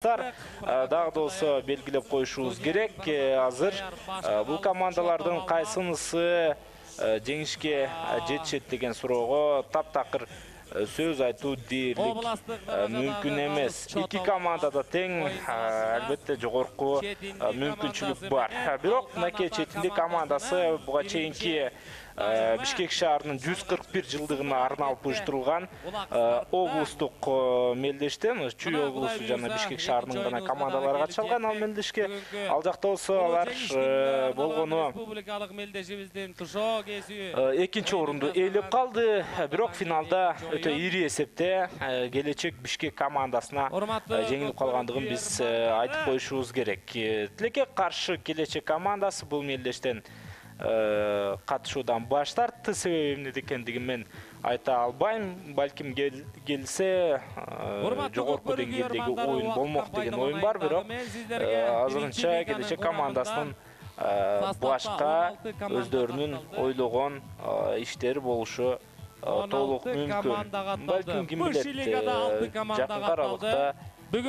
Дагы да болсо белгилеп коюшубуз керек. Азыр бул командалардын кайсынысы жеңишке жетишет деген суроого таптакыр сөз айтуу дээрлик мүмкүн эмес. Эки командада тең албетте жогорку мүмкүнчүлүк бар. Бирок мынакей Четиндик командасы буга чейинки Бишкек шаарынын 141 жылдыгына арналып уюштурулган облустук мелдештен Чүй облусу жана Бишкек шаарынын гана командалары катышалган. Ал мелдешке ал жакта болсо алар болгону республикалык мелдешибиздин Тушоо кесиби экинчи орунду ээлеп калды. Бирок финалда өтө ири эсепте Келечек Бишкек командасына жеңилип калгандыгын биз айтып коюшубуз керек. Тилекке каршы Келечек командасы бул мелдештен катышуудан баш тартты. Себеби эмнеде экендигин мен айта албайм. Балким келсе жогорку деңгээлдеги оюн болмок деген оюм бар. Бирок азырынча Келечек командасынын башка өздөрүнүн ойлогон иштери болушу толук мүмкүн. Балким ким билет, жакынкы аралыкта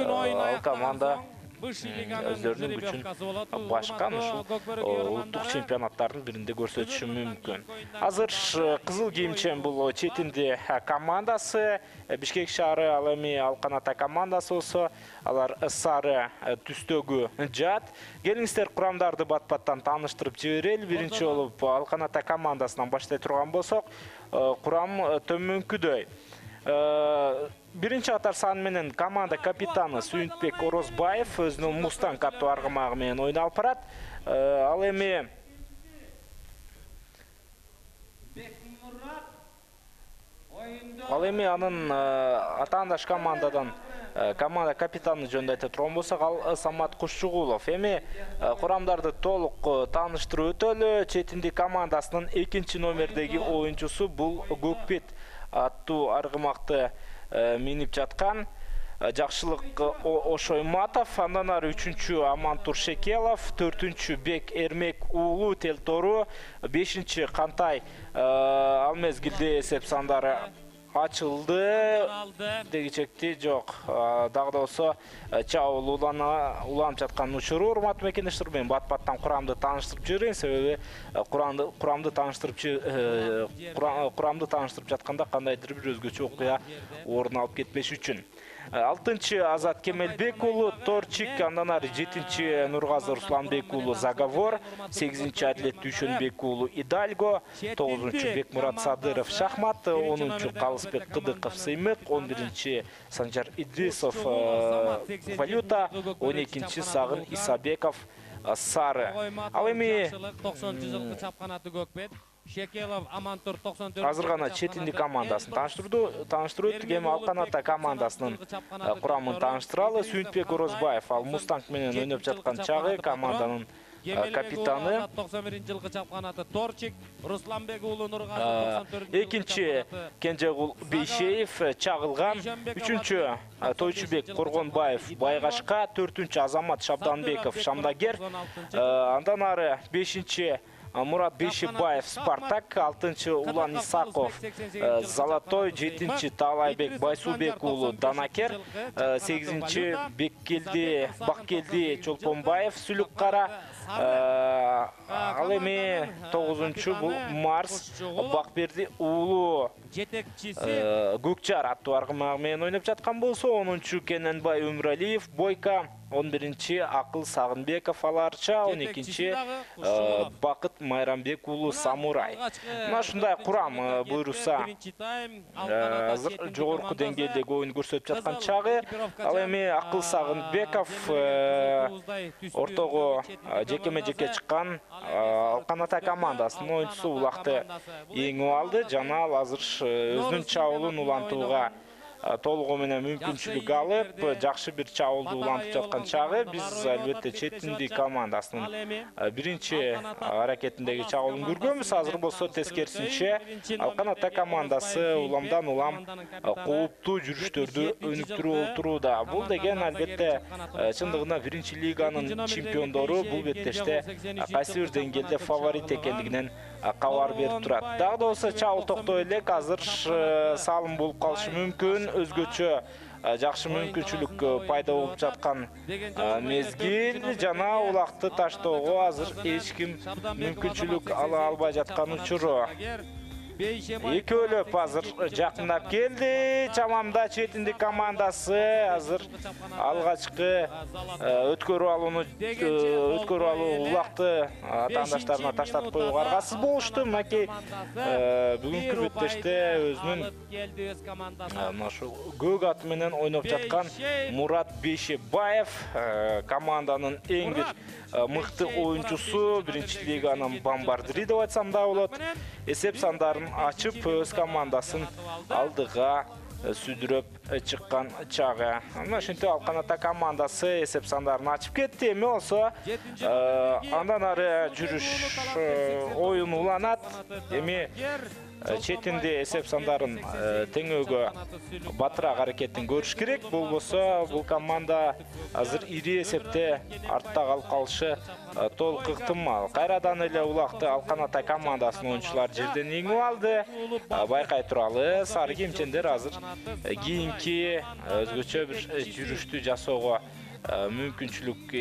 ал команда өздөрүнүн күчүн башка улуттук чемпионаттардын биринде көрсөтүшү мүмкүн. Азыр кызыл кийимчен бул Четинди командасы, Бишкек шаары ал эми Алкан-Ата командасы болсо алар сары түстөгү жаат. Келиңиздер курамдарды бат-баттан тааныштырып жиберели. Биринчи болуп Алкан-Ата командасынан баштай турган болсок, курам төмөнкүдөй. Биринчи катар сан менен команда капитаны Сүйүнтбек Орозбаев өзүнүн Мустанг аттуу аргымагы менен ойнолуп барат. Ал эми анын атаандаш командадан команда капитаны жөнүндө айта турган болсок, ал Самат Кушчугулов. Эми курамдарды толук тааныштырып өтөлү. Четиндик командасынын экинчи номердеги оюнчусу бул Көкбет аттуу аргымакты минип жаткан Жакшылык Ошойматов, андан ары 3-чү Амантур Шекелов, 4-чү Бек Эрмек уулу Телтору, 5-чи Кантай ал мезгилде эсеп сандары ачылды. Дегичекти жок. Дагы да болсо чабуул уланып жаткан учуру. Урматтуу мекендештер, мен бат-баттан курамды тааныштырып жиберейин. Себеби курамды тааныштырып жатканда кандайдыр бир өзгөчө окуя орун алып кетпеш үчүн. 6-чы Азат Кемелбек уулу Торчик, андан ары 7-чи Нургазы Русланбек уулу Заговор, 8-чи Адилет Дүйшөнбек уулу Идальго, 9-чу Бекмурат Садыров Шахмат, 10-чу Калысбек Кыдыков Сыймык, 11-чи Санжар Идрисов Валюта, 12-чи Сагын Исабеков Сары. Ал эми Шекелов, Амантур 94. Азыр гана Четиндик командасын тааныштырып өттүк. Эми Алкан-Ата командасынын курамын тааныштыралы. Сүйүнтбек Орозбаев ал Мустанг менен ойноп жаткан чагы команданын капитаны. 91-жылкы чапканаты Торчик, Русланбек уулу Нургазы 94. Экинчи Кенжегул Бейшеев чагылган. 3-чү Тойчубек Коргонбаев Байгашка, 4-чү Азамат Шабданбеков Шамдагер, андан ары 5-чи Мурат Бейшебаев Спартак, 6-чы Улан Исаков Золотой, 7-чи Таалайбек Байсубек уулу Данакер, 8-чи Баккелди Чолпонбаев Сүлүккара, ал эми 9-чу бул Марс Бакберди уулу Көкчар аттуу аргымагы менен ойноп жаткан болсо, 10-чу Кененбай Өмүралиев Бойка, 11-чи Акыл Сагынбеков Аларча, 12-чи Бакыт Майрамбек уулу Самурай. Мына ушундай курам буйруса азыр жогорку деңгээлдеги оюн көрсөтүп жаткан чагы. Ал эми Акыл Сагынбеков ортого жекеме-жеке чыккан Алкан-Ата командасынын оюнчусу улакты эңип алды. Жана ал азыр өзүнүн чабуулун улантууга толугу менен мүмкүнчүлүк алып, жакшы бир чабуулду улантып жаткан чагы. Биз албетте Четиндик командасынын биринчи аракетиндеги чабуулун көргөнбүз. Азыр болсо тескерисинче Алкан-Ата командасы уламдан улам кооптуу жүрүштөрдү өнүктүрүп отурууда. Бул деген албетте чындыгында биринчи лиганын чемпиондору бул беттеште кайсы бир деңгээлде фаворит экендигинен кабар берип турат. Дагы да болсо чабуул токтой элек, азыр салым болуп калышы мүмкүн. Өзгөчө жакшы мүмкүнчүлүк пайда болуп жаткан мезгил жана улакты таштоого азыр эч ким мүмкүнчүлүк ала албай жаткан учуру. Экөөлөп азыр жакындап келди. Чамамда четиндик командасы азыр алгачкы өткөрүп алуу улакты атаандаштарына таштап коюуга аргасыз болушту. Мынакей бүгүнкү беттеште өзүнүн мына ушул көк аты менен ойноп жаткан Мурат Бейшебаев команданын эң бир мыкты оюнчусу, биринчи лиганын бомбардири деп айтсам да болот. Эсеп сандарын ачып өз командасын алдыга сүдүрөп чыккан чагы. Мына ошентип Алкан Ата командасы эсеп сандарын ачып кетти. Эми болсо андан ары жүрүш оюн уланат. Эми четинде эсеп сандарын теңөөгө батыраак аракетин көрүш керек. Болбосо бул команда азыр ири эсепте артта калып калышы толук ыктымал. Кайрадан эле улакты Алкан Ата командасынын оюнчулары жерден иңип алды. Байкай туралы сары кийимчендер азыр кийинки өзгөчө бир жүрүштү жасоого мүмкүнчүлүк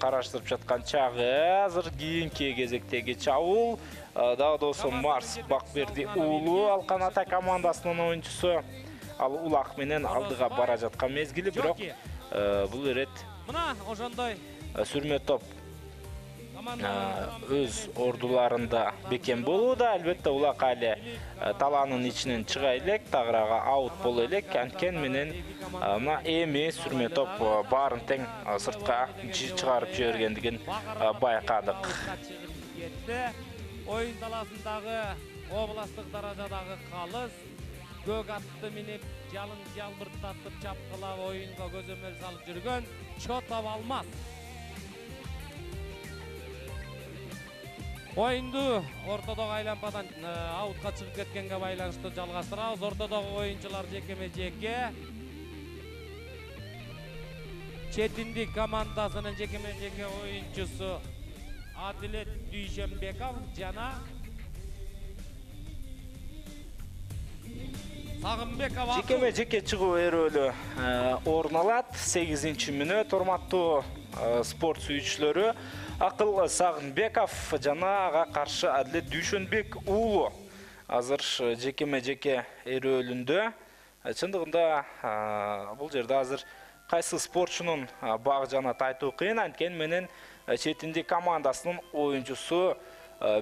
караштырып жаткан чагы. Азыр кийинки кезектеги чабуул дагы да болсо Марс Бакберди уулу Алкан Ата командасынын оюнчусу. Ал улак менен алдыга бара жаткан мезгили, бирок бул ирет мына ошондой сүрмө топ өз ордуларында бекем болууда. Албетте улак али талаанын ичинен чыга элек, тагырага аут боло элек. Анткени менен мына эми сүрмө топ баарын тең сыртка чыгарып жибергендигин байкадык. Oyun talasındagы областтык даражадагы калыс көк атты минип жалын жалбырттатып чапкылап оюнга көзөмөл салып жүргөн Чотов Алмаз. Оюнду ортодогу айлампадан аутка чыгып кеткенге байланыштуу жалгаштырабыз. Ортодогу оюнчулар жекеме-жеке. Четиндик командасынын жекеме-жеке оюнчусу Адилет Дүйшөнбеков жана Сагынбеков. Жекеме-жеке чыгуу эрөөлү орун алат. 8-мүнөт урматтуу спорт сүйүүчүлөрү. Акыл Сагынбеков жана ага каршы Адилет Дүйшөнбек уулу азыр жекеме-жеке эрөөлүндө. Чындыгында бул жерде азыр кайсы спортчунун багы жана айтуу кыйын. Анткени менен четиндик командасынын оюнчусу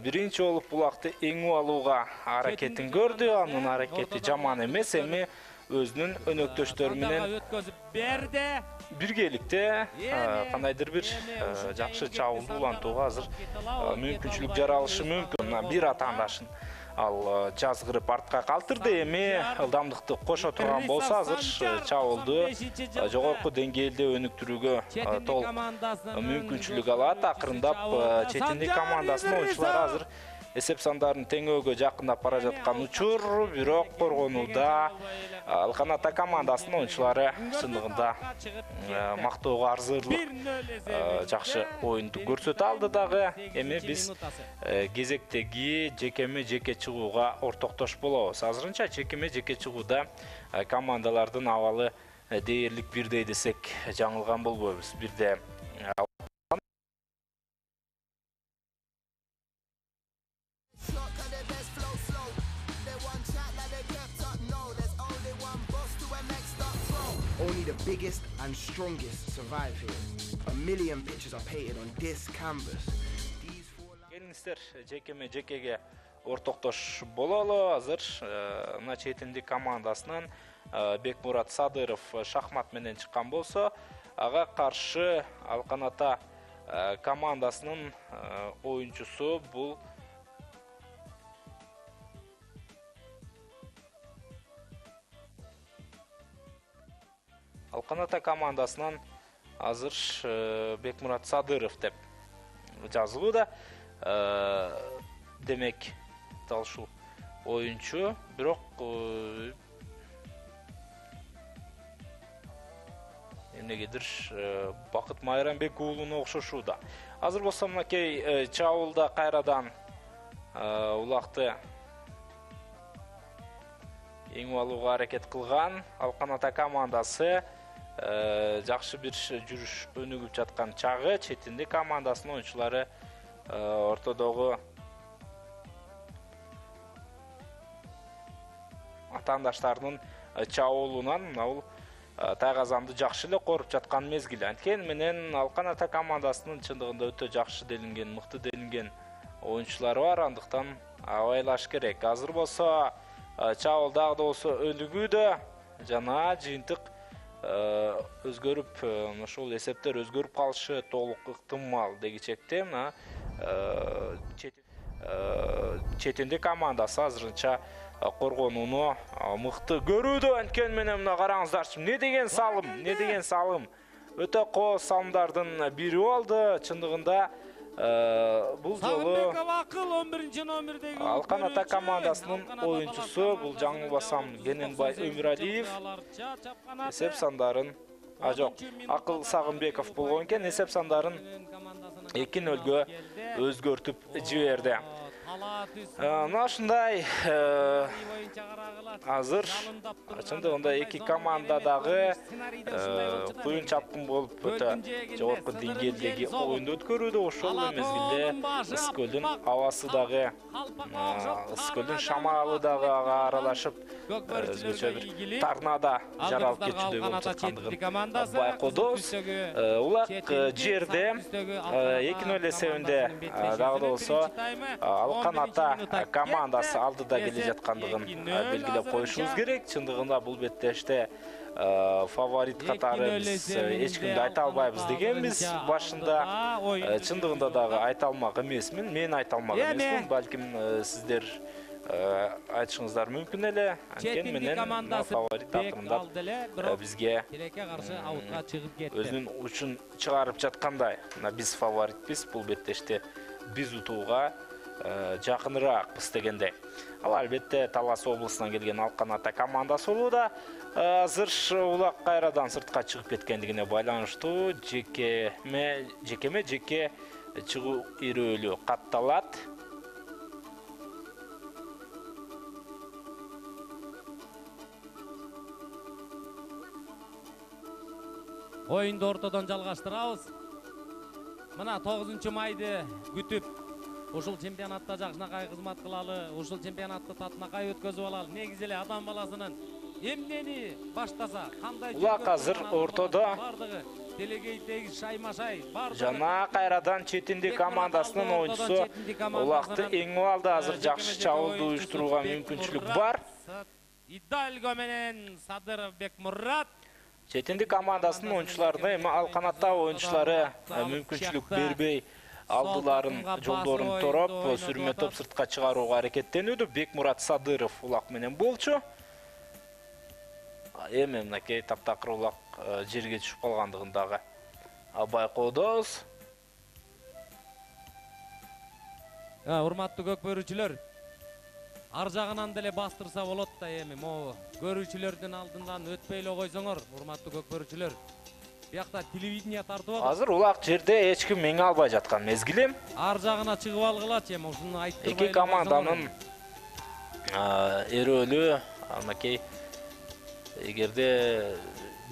биринчи болуп булакты эңип алууга аракетин көрдү. Анын аракети жаман эмес. Эми өзүнүн өнөктөштөрү менен өткөзүп берди. Биргеликте кандайдыр бир жакшы чабуулду улантууга азыр мүмкүнчүлүк жаралышы мүмкүн. Бир атаандашын ал жазгырып артка калтырды. Эми ылдамдыкты кошо турган болсо азыр чабуулду жогорку деңгээлде өнүктүрүүгө толук мүмкүнчүлүк алат. Акырындап четиндик командасынын оюнчулары азыр эсеп сандарын теңөөгө жакындап бара жаткан учур, бирок коргонууда Алкан Ата командасынын оюнчулары чындыгында мактоого арзырлык жакшы оюнду көрсөтө алды дагы. Эми биз кезектеги жекеме-жеке чыгууга ортоктош болобуз. Азырынча жекеме-жеке чыгууда командалардын абалы дээрлик бирдей десек жаңылган болбойбуз. Бирде Only the biggest and strongest survive here. A million pictures are painted on this canvas. Келиңиздер жекеме-жекеге ортоктош бололу. Азыр мына четиндик командасынан Бекмурат Садыров шахмат менен чыккан болсо, ага каршы Алкан Ата командасынын оюнчусу бул Алкан Ата командасынан азыр Бекмурат Садыров деп жазылууда. Демек, дал ушул оюнчу, бирок эмнегедир Бакыт Майрамбек уулуна окшошууда. Азыр болсо мынакей чабуулда кайрадан улакты эң алууга аракет кылган. Алкан Ата командасы жакшы бир жүрүш өнүгүп жаткан чагы. Четинди командасынын оюнчулары ортодогу атаандаштарынын чабуулунан бул тайгазанды жакшы эле коруп жаткан мезгил. Анткени менен Алкан Ата командасынын чындыгында өтө жакшы делинген, мыкты делинген оюнчулары бар. Андыктан абайлаш керек. Азыр болсо чабуул дагы да болсо өнүгүүдө жана жыйынтык өзгөрүп, ошол эсептер өзгөрүп калышы толук ыктымал дегичекте мына четинди командасы азырынча коргонууну мыкты көрүүдө. Анткени менен мына караңыздарчы, эмне деген салым, өтө кооз салымдардын бири болду. Чындыгында бул жолу Алкан Ата командасынын оюнчусу, бул жаңылбасам Кененбай Өмүралиев эсеп сандарын жок, Акыл Сагынбеков болгон экен, эсеп сандарын 2-0 өзгөртүп жиберди. Мына ушундай азыр чындыгында эки команда дагы куюн чапкын болуп өтө жогорку деңгээлдеги оюнду өткөрүүдө. Ошол эле мезгилде Ысыкөлдүн абасы дагы, Ысыкөлдүн шамалы дагы ага аралашып өзгөчө бир торнадо жаралып кетүүдөй болуп жаткандыгын байкоодубуз. Улак жерде 2-0 эсебинде дагы да болсо Алкан Ата командасы алдыда келе жаткандыгын белгилеп коюшубуз керек. Чындыгында бул беттеште фаворит катары биз эч кимди айта албайбыз дегенбиз башында. Чындыгында дагы айта алмак эмесмин, мен айта алмак эмесмин, балким сиздер айтышыңыздар мүмкүн эле. Анткени менен фаворит акырындап бизге өзүнүн учун чыгарып жаткандай. Биз фаворитпиз, бул беттеште биз утууга жакыныраакпыз дегендей. Ал албетте Талас облусунан келген Алкан Ата командасы болууда. Азыр улак кайрадан сыртка чыгып кеткендигине байланыштуу жеке чыгуу ирөөлү катталат. Оюнду ортодон жалгаштырабыз. Мына 9 майды күтүп ушул чемпионатта жакшынакай кызмат кылалы, ушул чемпионатты татынакай өткөзүп алалы. Негизи эле адам баласынын эмнени баштаса, кандай улак азыр ортодо делегей тегиз шайма-шай бар. Жана кайрадан четинди командасынын оюнчусу улакты эңип алды. Азыр жакшы чабуулду уюштурууга мүмкүнчүлүк бар. Идальго менен Садыров Бекмурат. Четинди командасынын оюнчуларына эми Алкан Ата оюнчулары мүмкүнчүлүк бербей алдыларын, жолдорун тороп, сүрмө топ сыртка чыгарууга аракеттенүүдө. Бекмурат Садыров улак менен болчу. Эми мынакей таптакыр улак жерге түшүп калгандыгын дагы байкоодубуз. Урматтуу көк бөрүүчүлөр, ар жагынан деле бастырса болот да, эми могу көрүүчүлөрдүн алдынан өтпөй эле койсоңор, урматтуу көк бөрүүчүлөр. Биякта телевидение тартып атат. Азыр улак жерде эч ким меңе албай жаткан мезгилим. Ар жагына чыгып алгылачы, эми ушуну айттырбай. Эки команданын эрөөлү анакей эгерде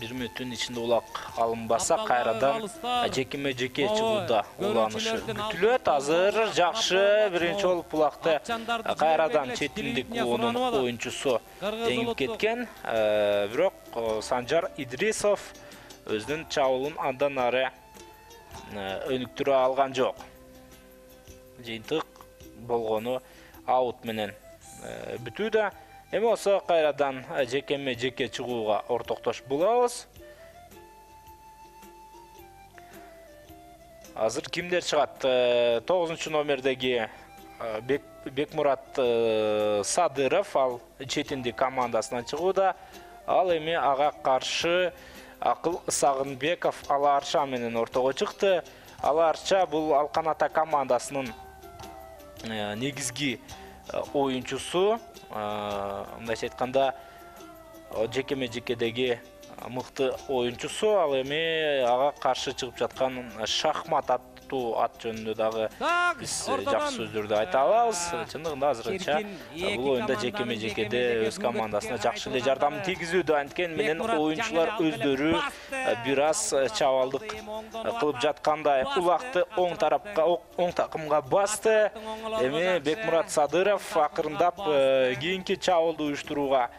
1 мүнөттүн ичинде улак алынбаса, кайрадан жекеме-жеке чыгууда уланышы күтүлөт. Азыр жакшы биринчи болуп улакты кайрадан четиндик клубунун оюнчусу эңип кеткен. Бирок Санжар Идрисов өзүнүн чабуулун андан ары өнүктүрө алган жок. Жыйынтык болгону аут менен бүтүүдө. Эми болсо кайрадан жекеме-жеке чыгууга ортоктош болобуз. Азыр кимдер чыгат? 9 номердеги Бекмурат Садыров, ал четинди командасынан чыгууда. Ал эми ага каршы Акыл Сагынбеков Аларча менен ортого чыкты. Аларча бул Алкан Ата командасынын негизги оюнчусу. Мындайча айтканда жекеме-жекедеги мыкты оюнчусу. Ал эми ага каршы чыгып жаткан шахмат спорттуу ат жөнүндө дагы биз жакшы сөздөрдү айта алабыз. Чындыгында азырынча бул оюнда жекеме-жекеде өз командасына жакшы эле жардам тийгизүүдө, анткени менен оюнчулар өздөрү бир аз чабалдык кылып жаткандай. Улакты оң тарапка, оң такымга басты. Эми Бекмурат Садыров акырындап кийинки чабуулду уюштурууга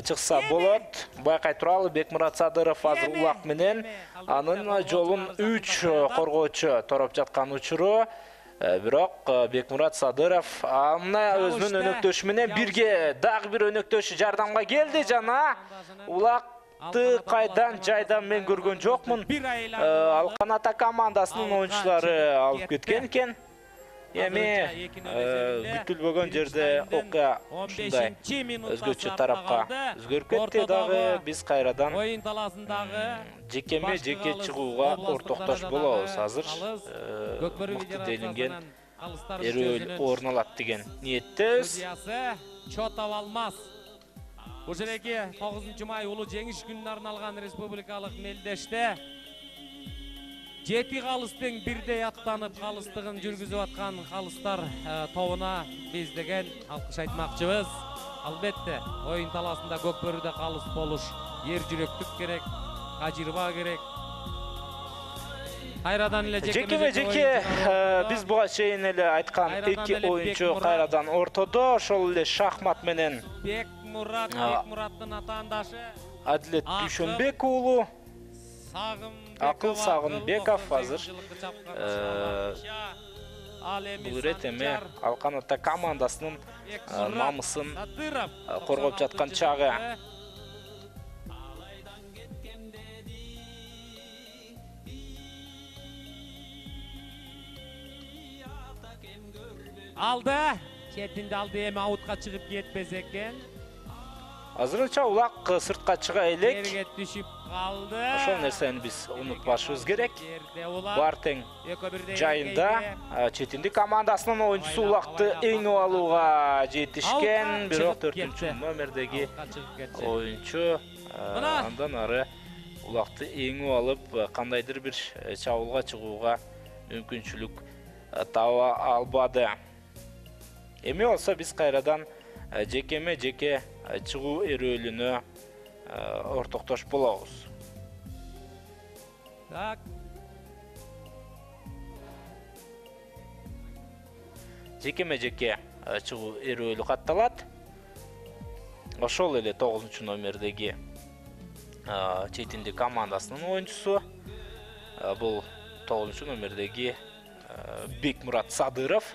чыкса болот. Байкай туралы, Бекмурат Садыров азыр улак менен анын жолун 3 коргоочу тороп жаткан учуру. Бирок Бекмурат Садыров аны өзүнүн өнөктөшү менен бирге дагы бир өнөктөшү жардамга келди жана улакты кайдан жайдан мен көргөн жокмун. Алкан Ата командасынын оюнчулары алып кеткен экен. Эми күтүлбөгөн жерде окуя ушундай өзгөчө тарапка өзгөрүп кетти дагы. Биз кайрадан оюн талаасындагы жекеме-жеке чыгууга ортоктош болобуз. Азыр мыкты делинген эрөөл орун алат деген ниеттебиз. Чотов Алмаз ушереки 9 май улуу жеңиш күнүнө арналган республикалык мелдеште 7 калыстын бирдей аттанып калыстыгын жүргүзүп аткан калыстар тобуна биз деген алкыш айтмакчыбыз. Албетте, оюн талаасында көк бөрүдө калыс болуш ер жүрөктүк керек, ажырба керек. Кайрадан эле жеке биз буга чейин эле айткан 2 оюнчу кайрадан ортодо, ошол эле шахмат менен Бекмураттын атаандашы Адилет Дүйшөнбек уулу Акыл Сагынбеков азыр бул ирет эми Алкан Ата командасынын намысын коргоп жаткан чагы. Алды, четинде алды, эми аутка чыгып кетпес экен. Азырынча улак сыртка чыга элек. Жерге түшүп калды. Ошол нерсени биз унутпашыбыз керек. Бар тең жайында четинди командасынын оюнчусу улакты эңип алууга жетишкен. Бирок 4-номердеги оюнчу андан ары улакты эңип алып кандайдыр бир чабуулга чыгууга мүмкүнчүлүк таба албады. Эми болсо биз кайрадан жекеме-жеке чыгуу эрөөлүнө ортоктош болобуз. Так. Жекеме-жеке чыгуу эрөөлү катталат. Ошол эле 9-номердеги четинди командасынын оюнчусу. Бул 9-номердеги Бекмурат Садыров.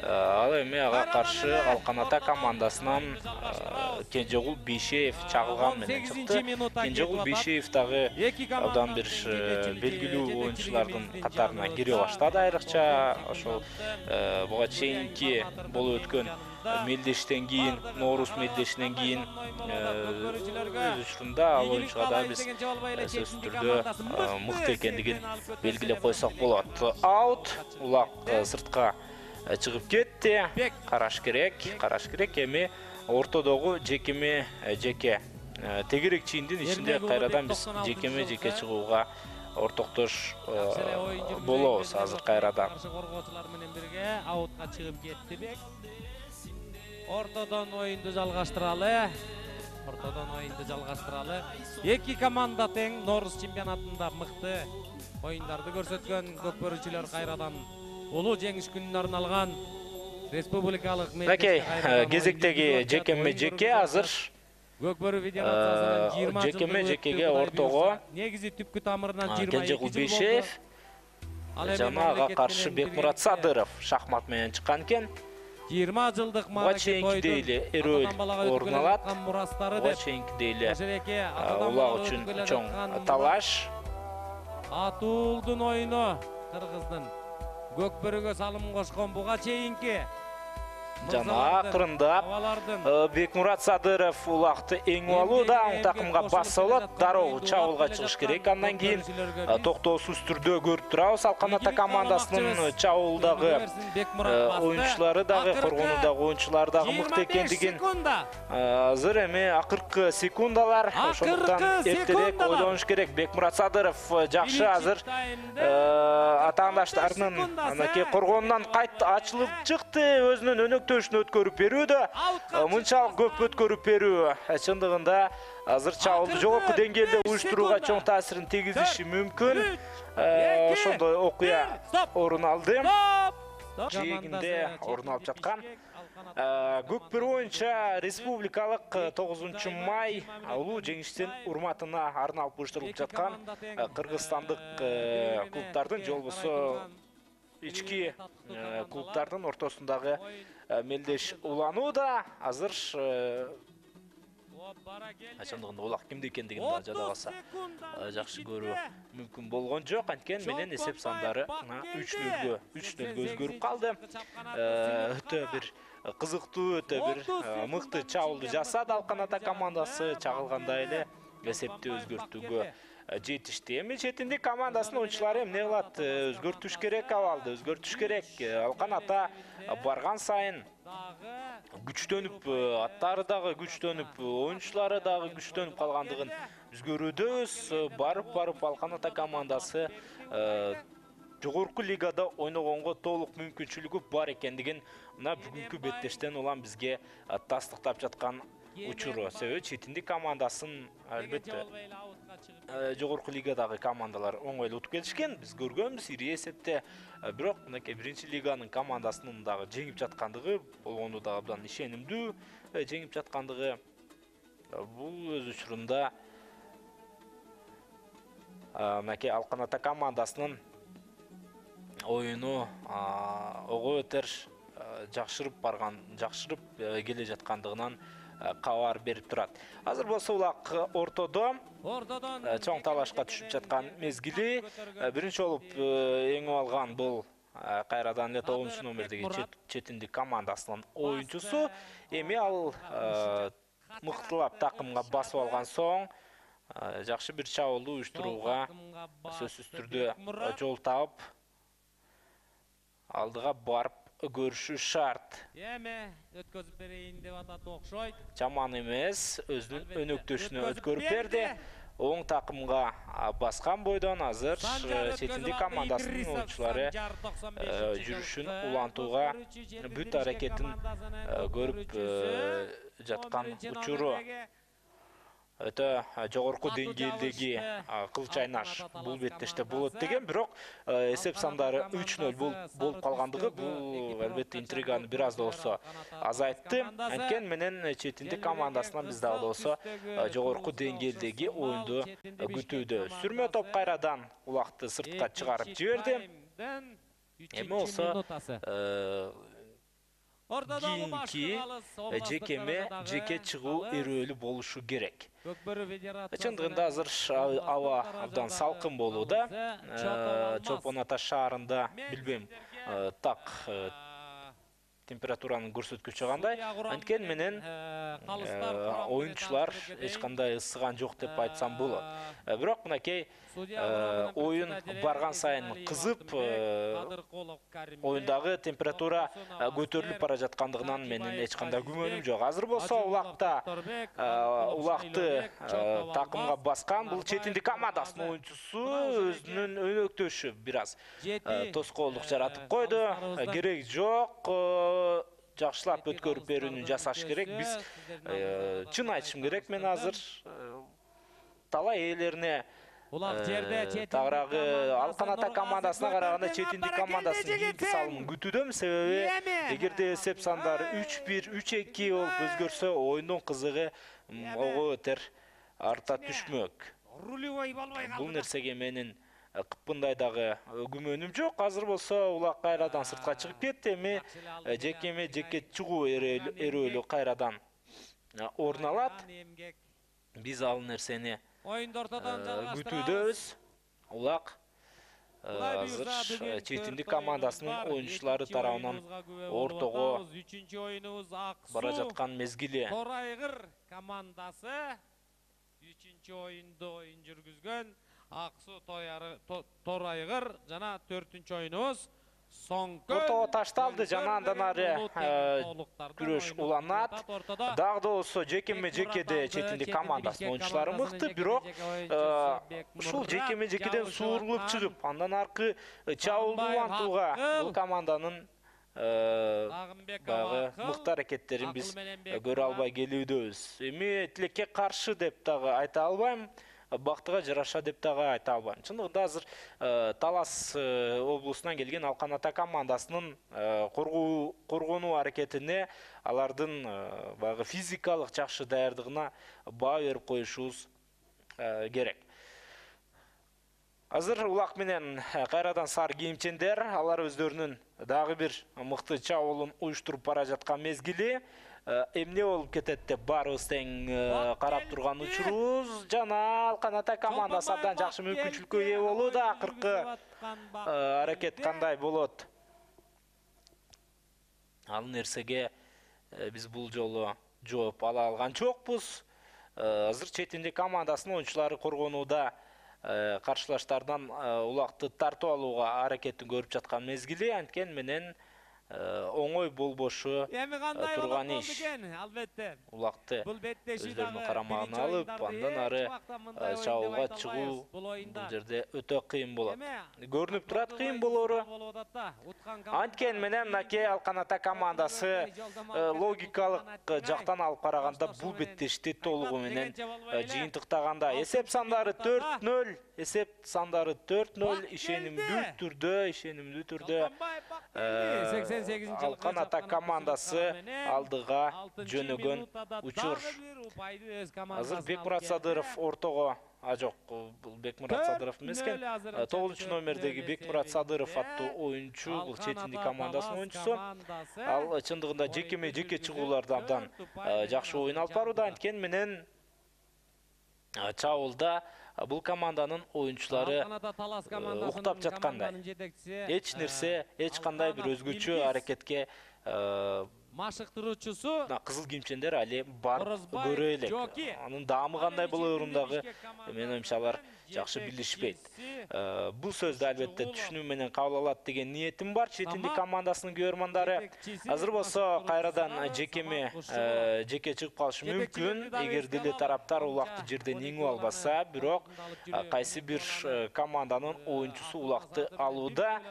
Ал эми ага каршы Алкан Ата командасынан Кенжегул Бейшеев чагылган менен чыкты. Кенжегул Бейшеев дагы абдан бир белгилүү оюнчулардын катарына кире баштады айрыкча. Ошол буга чейинки болуп өткөн мелдештен кийин, Ноорус мелдешинен кийин өз учурунда ал оюнчуга да биз сөзсүз түрдө мыкты экендигин белгилеп койсок болот. Аут, улак сыртка чыгып кетти. Караш керек. Эми ортодогу жекеме-жеке тегерек чийиндин ичинде кайрадан биз жекеме-жеке чыгууга ортоктош болобуз азыр кайрадан. Коргоочулар менен бирге аутка чыгып кетти Бек. Ортодон оюнду жалгаштыралы. Эки команда тең Ноорус чемпионатында мыкты оюндарды көрсөткөн көкбөрүчүлөр кайрадан улуу жеңиш күнүнө арналган республикалык мелдеште кезектеги жекеме-жеке азыр Көкбөрү федерациясынын 20 жекеме-жекеге ортого негизи түпкү тамырынан 22 Кенжегул Бейшеев жана ага каршы Бекмурат Садыров шахмат менен чыккан экен. 20 жылдык маалекет чейинкидей эле эрөөл орун алат. Чейинкидей эле улак үчүн чоң талаш. Атуулдун оюну кыргыздын Көкбөрүгө салым кошкон буга чейинки жана акырындап Бекмурат Садыров улакты эң алууда оң такымга бassa болот. Дароо чабуулга чыгыш керек. Андан кийин токтоосуз түрдө көрүп турабыз. Алкан ата командасынын чабуулдагы оюнчулары дагы, коргонуудагы оюнчулары дагы мыкты экендигин азыр эми акыркы секундалар. Ошондуктан эртерээк ойлонуш керек. Бекмурат Садыров жакшы азыр атаандаштарынын анакей коргонунан кайт ачылып чыкты. Өзүнүн өнөктөшүн өткөрүп берүүдө мынчалык көп өткөрүп берүү чындыгында азыр чабуулду жогорку деңгээлде уюштурууга чоң таасирин тийгизиши мүмкүн. Ошондой окуя орун алды. Жээгинде орун алып жаткан Көкбөр боюнча республикалык 9 май улуу жеңиштин урматына арналып уюштурулуп жаткан кыргызстандык клубдардын же болбосо ички клубдардын ортосундагы мелдеш уланууда. Азыр чындыгында улак кимде экендигин да жада калса жакшы көрүү мүмкүн болгон жок. Анткени менен эсеп сандары 3-0 өзгөрүп калды. Өтө бир кызыктуу, өтө бир мыкты чабуулду жасады Алкан ата командасы. Чагылгандай эле эсепти өзгөртүүгө жетишти. Эми четиндик командасынын оюнчулары эмне кылат? Өзгөртүш керек абалды, өзгөртүш керек. Алкан ата барган сайын күчтөнүп, аттары дагы күчтөнүп, оюнчулары дагы күчтөнүп калгандыгын биз көрүүбүз. Барып Алкан ата командасы жогорку лигада ойногонго толук мүмкүнчүлүгү бар экендигин мына бүгүнкү беттештен улам бизге тастыктап жаткан учуру. Себеби четиндик командасын албетте жогорку лигадагы командалар оңойлуу утуп келишкен. Биз көргөнбүз ири эсепте. Бирок мынакей биринчи лиганын командасынын дагы жеңип жаткандыгы, болгону дагы абдан ишенимдүү жеңип жаткандыгы бул өз учурунда мынакей Алкан ата командасынын оюну ого өтөр жакшырып келе жаткандыгынан кабар берип турат. Азыр болсо улак ортодон чоң талашка түшүп жаткан мезгили. Биринчи болуп эңип алган бул кайрадан эле 9-номердеги четиндик командасынын оюнчусу. Эми ал мыктылап такымга басып алган соң жакшы бир чабуулду уюштурууга сөзсүз түрдө жол таап алдыга барып көрүшү шарт. Эми өткөзүп берейин деп атат окшойт. Жаман эмес, өзүнүн өнөктөшүнө өткөрүп берди. Оң такымга баскан бойдон азыр четиндик командасынын оюнчулары жүрүшүн улантууга бүт аракетин көрүп жаткан учуру. Өтө жогорку деңгээлдеги кыл чайнаш бул беттеште болот деген, бирок эсеп сандары 3-0 болуп калгандыгы бул албетте интриганы бир аз да болсо азайтты. Анткени менен четиндик командасынан биз дагы болсо жогорку деңгээлдеги оюнду күтүүдө. Сүрмө топ кайрадан улакты сыртка чыгарып жиберди. Эми болсо кийинки жеке чыгуу эрөөлү болушу керек. Чындыгында азыр аба абдан салкын болууда. Чолпон Ата шаарында билбейм так температуранын көрсөткүчү кандай. Анткени менен оюнчулар эч кандай ысыган жок деп айтсам болот. Бирок мынакей оюн барган сайын кызып, оюндагы температура көтөрүлүп бара жаткандыгынан менин эч кандай күмөнүм жок. Азыр болсо улакты такымга баскан бул четиндик командасынын оюнчусу өзүнүн өнөктөшү бир аз тоскоолдук жаратып койду. Кереги жок. Жакшылап өткөрүп берүүнү жасаш керек. Биз чын айтышым керек, мен азыр талай ээлерине тагыраагы Алкан ата командасына караганда четиндик командасынын кийинки салымын күтүүдөм. Себеби эгерде эсеп сандары 3-1, 3-2 болуп өзгөрсө, оюндун кызыгы ого өтөр арта түшмөк. Бул нерсеге менин кыпкындай дагы күмөнүм жок. Азыр болсо улак кайрадан сыртка чыгып кетти. Эми жеке чыгуу эрөөлү кайрадан орун алат. Биз ал нерсени күтүүдөбүз. Улак азыр четиндик командасынын оюнчулары тарабынан ортого 3-оюнубуз Аксу бара жаткан мезгили. Торайгыр командасы 3-оюнду оюн жүргүзгөн Аксу Торайгыр жана 4-оюнубуз Соңкөл. Ортого ташталды жана андан ары күрөш уланат. Дагы да болсо жекеме-жекеде четиндик командасынын оюнчулары мыкты, бирок ушул жекеме-жекеден суурулуп чыгып, андан аркы чабуулду улантууга бул команданын баягы мыкты аракеттерин биз көрө албай келүүбүз. Эми тилекке каршы деп дагы айта албайм. Бактыга жараша деп дагы айта албайм. Чындыгында азыр Талас облусунан келген Алкан Ата командасынын коргонуу аракетине, алардын баягы физикалык жакшы даярдыгына баа берип коюшубуз керек. Азыр улак менен кайрадан сары кийимчендер, алар өздөрүнүн дагы бир мыкты чабуулун уюштуруп бара жаткан мезгили. Эмне болуп кетет деп баарыбыз тең карап турган учурубуз. Жана Алкан Ата командасы абдан жакшы мүмкүнчүлүккө ээ болууда. Акыркы аракет кандай болот? Ал нерсеге биз бул жолу жооп ала алган жокпуз. Азыр четиндик командасынын оюнчулары коргонууда каршылаштардан улакты тартып алууга аракетин көрүп жаткан мезгили, анткени менен оңой болбошу турган иш. Албетте. Улакты өздөрүнүн карамагына алып, андан ары чабуулга чыгуу бул жерде өтө кыйын болот. Көрүнүп турат кыйын болору. Анткени менен мынакей Алкан Ата командасы логикалык жактан алып караганда бул беттешти толугу менен жыйынтыктаганда эсеп сандары 4-0, ишенимдүү түрдө Алкан Ата командасы алдыга жөнөгөн учур. Азыр Бекмурат Садыров ортого, жок, бул Бекмурат Садыров эмес экен. 9-номердеги Бекмурат Садыров аттуу оюнчу, бул четиндик командасынын оюнчусу. Ал чындыгында жеке чыгууларда абдан жакшы оюн алып барууда, анткени менен чабуулда бул команданын оюнчулары уктап жаткандай. Эч кандай бир өзгөчө аракетке машыктыруучусу кызыл кийимчендер али барып көрө элек. Анын даамы кандай болоорун дагы менин оюмча алар жакшы билишпейт. Бул сөздү албетте түшүнүү менен кабыл алат деген ниетим бар четиндик командасынын көрөрмандары. Азыр болсо кайрадан жеке чыгып калышы мүмкүн, эгер деле тараптар улакты жерден иңип албаса, бирок кайсы бир команданын оюнчусу улакты алууда.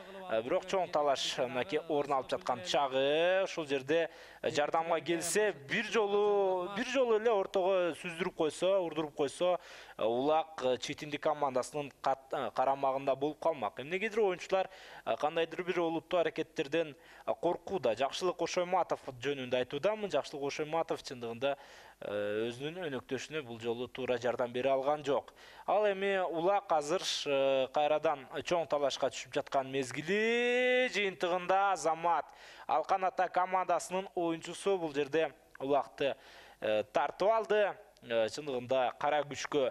Бирок чоң талаш мынакей орун алып жаткан чагы, ушул жерде жардамга келсе, бир жолу эле ортого сүздүрүп койсо, урдуруп койсо, улак четиндик командасынын карамагында болуп калмак. Эмнегедир оюнчулар кандайдыр бир олуттуу аракеттерден коркууда. Жакшылык Ошойматов жөнүндө айтуудамын. Жакшылык Ошойматов чындыгында өзүнүн өнөктөшүнө бул жолу туура жардам бере алган жок. Ал эми улак азыр кайрадан чоң талашка түшүп жаткан мезгили, жыйынтыгында Азамат Алкан Ата командасынын оюнчусу бул жерде улакты тартып алды. Чындыгында кара күчкө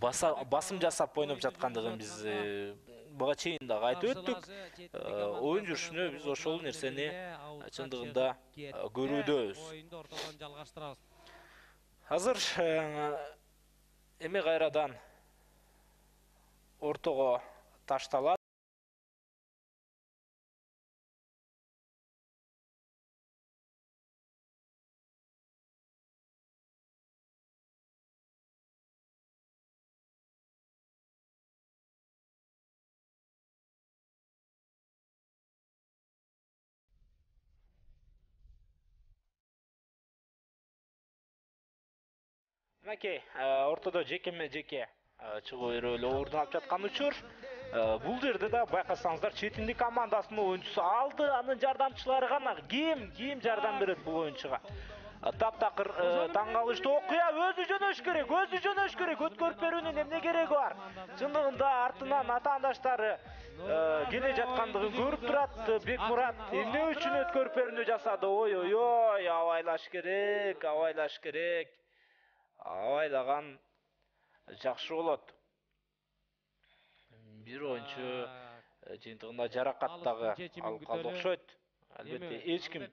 басым жасап ойноп жаткандыгын биз буга чейин дагы айтып өттүк. Оюн жүрүшүнө биз ошол нерсени чындыгында көрүүдөбүз. Азыр эми кайрадан ортого ташталат. Мынакей, ортодо жеке чыгуу өрөөлө орун алып жаткан учур. Бул жерде да байкасаңыздар четиндик командасынын оюнчусу алды, анын жардамчылары гана ким жардам берет бул оюнчуга. Таптакыр таң калыштуу окуя, өзү жөнөш керек, өткөрүп берүүнүн эмне кереги бар? Чындыгында артынан атаандаштары келе жаткандыгын көрүп турат. Бекмурат эмне үчүн өткөрүп берүүнү жасады? Ой, абайлаш керек. Абайлаган жакшы болот. бир oyuncu жыйынтыгында жаракат дагы алып калды окшойт. Албетте эч ким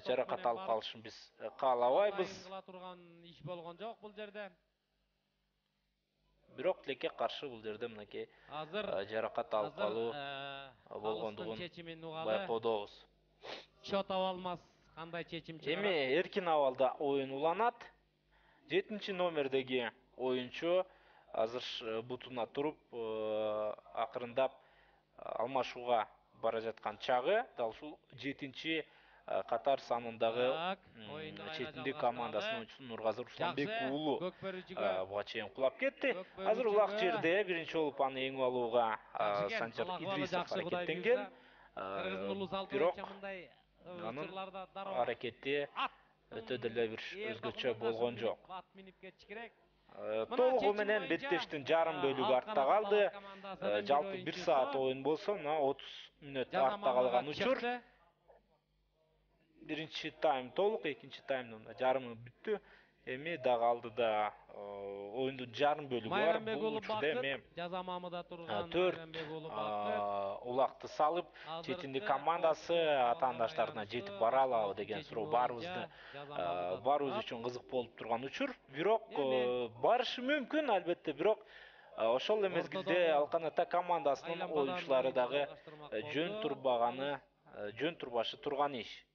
жаракат алып калышын биз каалабайбыз. Кыла турган иш болгон жок бул жерде. Бирок тилекке каршы бул жерде мынакей жаракат алып калуу болгондугун байкоодобуз. Шот аба алмас кандай чечим чыгарат? Эми эркин абалда оюн уланат. 7 номердеги oyuncu азыр бутуна туруп акырындап алмашууга бара жаткан чагы. Дал ушул 7 катар санындагы четиндик командасынын oyuncusu Нургазы Русланбек уулу буга чейин кулап кетти. Азыр улак жерде биринчи болуп аны эңип алууга Санжар Идрисов аракеттенген. Бирок анын аракети өтө деле бир өзгөчө болгон жок. Толугу менен беттештин жарым бөлүгү артта калды. Жалпы 1 саат оюн болсо, 30 мүнөт артта калган учур. Биринчи тайм толук, экинчи таймдын жарымы бүттү. Эми дагы алдыда оюндун жарым бөлүгү бар. Бул учурда эми жаза мамыда турган 4 улакты салып, четиндик командасы атаандаштарына жетип бара алабы деген суроо баарыбыз үчүн кызык болуп турган учур. Бирок барышы мүмкүн, албетте, бирок ошол эле мезгилде Алкан Ата командасынын оюнчулары дагы жөн турбашы турган иш.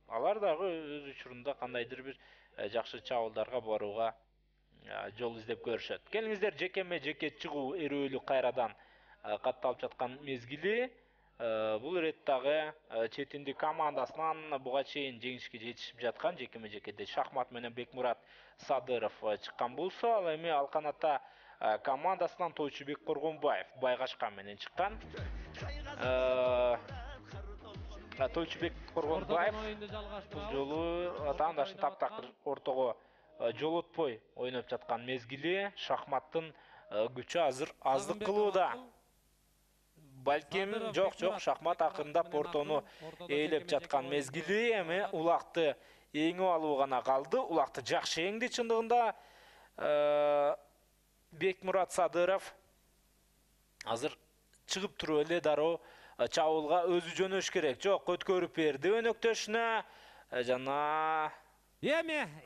Алар дагы өз учурунда кандайдыр бир жакшы чабуулдарга барууга жол издеп көрүшөт. Келиңиздер, жеке чыгуу эрөөлүк кайрадан катталып жаткан мезгили. Бул ирет дагы четиндик командасынан буга чейин жеңишке жетишип жаткан жекеде Шахмат менен Бекмурат Садыров чыккан болсо, ал эми Алкан Ата командасынан Тойчубек Коргонбаев Байгашка менен чыккан. Тойчубек Коргонбаев бул жолу атаандашын таптакыр ортого жолотпой ойноп жаткан мезгили. Шахматтын күчү азыр аздык кылууда. Балким жок, Шахмат акырындап ортону ээлеп жаткан мезгили. Эми улакты эңип алуу гана калды. Улакты жакшы эңди чындыгында. Бекмурат Садыров азыр чыгып туруп эле дароо чабуулга өзү жөнөш керек. Жок, өткөрүп берди өнөктөшүнө. Жана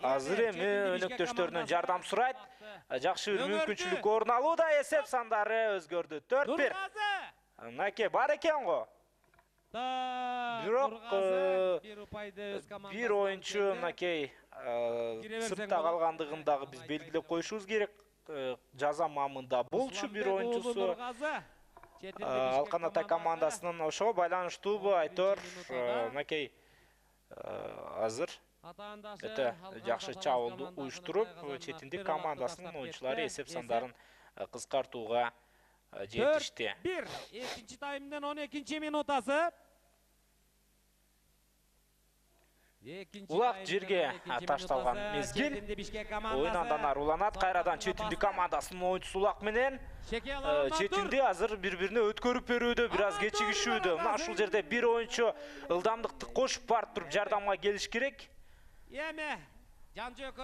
азыр эми өнөктөштөрүнөн жардам сурайт. Жакшы бир мүмкүнчүлүк орун алууда. Эсеп сандары өзгөрдү. 4-1. Мынакей бар экен го. Бирок бир oyuncu мынакей сыртта калгандыгын дагы биз белгилеп коюшубуз керек. Жаза мамында болчу бир oyuncusu. Алкан Ата командасынын ошого байланыштуубу айтор. Мынакей азыр өтө жакшы чабуулду уюштуруп, четиндик командасынын oyunculары эсеп сандарын кыскартууга жетишти. 4-1. Экинчи таймдын 12 минутасы. Улак жерге ташталган мезгил. Оюн андан ары уланат. Кайрадан четиндик командасынын oyuncusu улак менен четинди азыр бири-бирине өткөрүп берүүдө, бир аз кечигишүүдө. Мына ушул жерде бир oyuncu ылдамдыкты кошуп барып туруп жардамга келиш керек.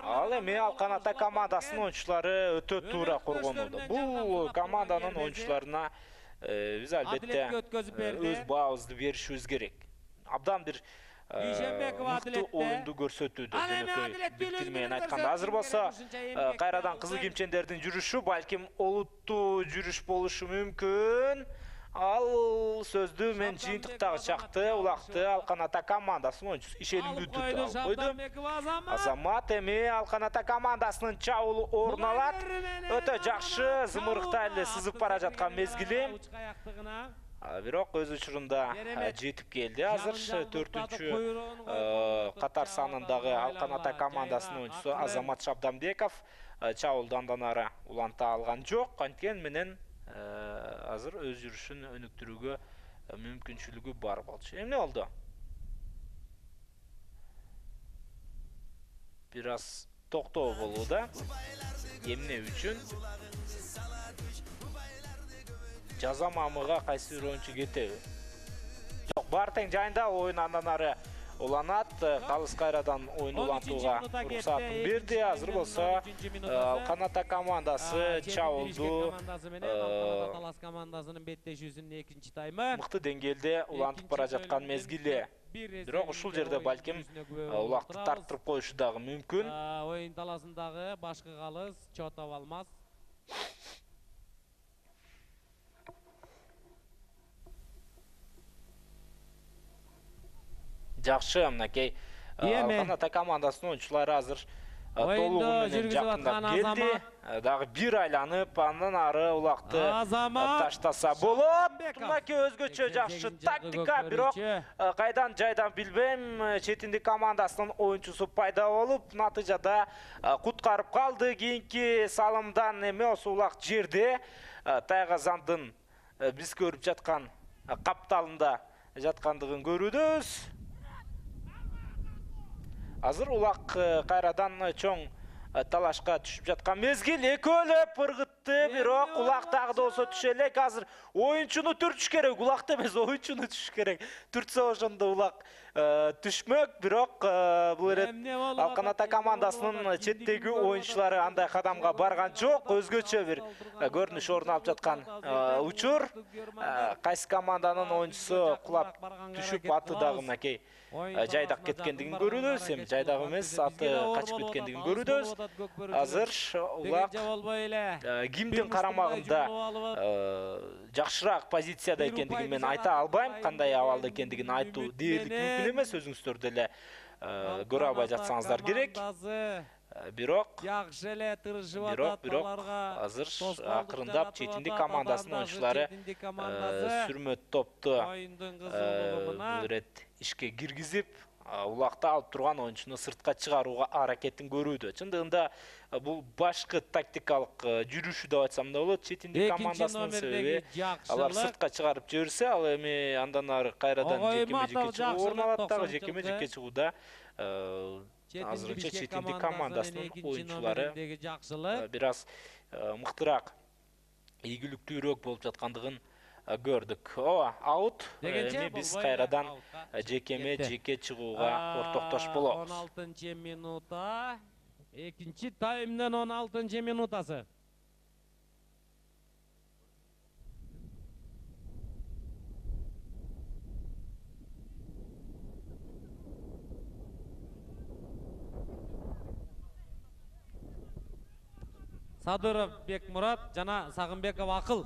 Ал эми Алкан Ата командасынын oyuncuları өтө туура коргонууда. Бул команданын oyuncularына биз албетте өз баабызды беришибиз керек. Абдан бир мыкты оюнду көрсөтүүдө. Биктир менен айтканда, азыр болсо кайрадан кызыл кимчендердин жүрүшү балким олуттуу жүрүш болушу мүмкүн. Ал сөздү мен жыйынтыктагы чакты улакты Алкан Ата командасынын oyuncusu ишенимдүү түрдө койду. Азамат эми Алкан Ата командасынын чабуулу орун алат. Өтө жакшы зымырыктай эле сызып бара жаткан мезгили. Бирок өз учурунда жетип келди. Азыр 4-чү катар санындагы Алкан Ата командасынын oyuncusu Азамат Шабдамбеков чабуулду андан ары уланта алган жок. Анткени менен азыр өз жүрүшүн өнүктүрүүгө мүмкүнчүлүгү бар болчу. Эмне болду? Бир аз токтоо болууда. Эмне үчүн? Жаза мамыга кайсы бир oyuncu кетеби? Жок, бар тең жайында оюн андан ары уланат. Калыс кайрадан oyun улантууга уруксатын берди. Азыр болсо Алканата командасы чабылду. Талас командасынын беттешүүсүнүн экинчи таймы. Мыкты деңгээлде улантып бара жаткан мезгили. Бирок ушул жерде балким улакты тарттырып коюшу дагы мүмкүн. Oyun таласындагы башкы калыс чот алмаз. Жакшы, мынакей Алканата командасынын оюнчулары азыр толугу менен жакындап келди. Дагы бир айланып, андан ары улакты таштаса болот. Мынакей өзгөчө жакшы тактика, бирок кайдан жайдан билбейм, четиндик командасынын оюнчусу пайда болуп, натыйжада куткарып калды. Кийинки салымдан эме осы улак жерде Тайгазандын биз көрүп жаткан капталында жаткандыгын көрүбүз. Азыр улак кайрадан чоң талашка түшүп жаткан мезгил. Экөөлөп ыргытты, бирок улак дагы да болсо түшө элек. Азыр оюнчуну түртүш керек, улакты эмес, оюнчуну түшүш керек. Түртсө ошондо улак түшмөк, бирок бул эрет Алканата командасынын четтеги оюнчулары андай кадамга барган жок. Өзгөчө бир көрүнүш орун алып жаткан учур. Кайсы команданын оюнчусу кулап түшүп, аты дагы мынакей жайдак кеткендигин көрүбүз. Эми жайдак эмес, аты качып кеткендигин көрүбүз. Азыр улак кимдин карамагында жакшыраак позицияда экендигин мен айта албайм. Кандай абалда экендигин айтуу дээрлик мүмкүн эмес. Өзүңүздөр деле көрө албай жатсаңыздар керек. Бирок жакшы эле тырышып атат. Азыр акырындап четиндик командасынын оюнчулары сүрмөт топту бул ирет ишке киргизип, улакты алып турган оюнчуну сыртка чыгарууга аракетин көрүүдө. Чындыгында бул башкы тактикалык жүрүшү деп айтсам да болот. Четиндик командасынын себеби алар сыртка чыгарып жиберсе, ал эми андан ары кайрадан жекеме-жеке чыгуу орун алат. Дагы жекеме-жеке чыгууда азырынча четиндик командасынын оюнчулары бир аз мыктыраак, ийгиликтүүрөөк болуп жаткандыгын көрдүк. Аут. Эми биз кайрадан жекеме-жеке чыгууга ортоктош болобуз. 16-минута. Экинчи таймдын 16-минутасы. Садыров Бекмурат жана Сагынбеков Акыл.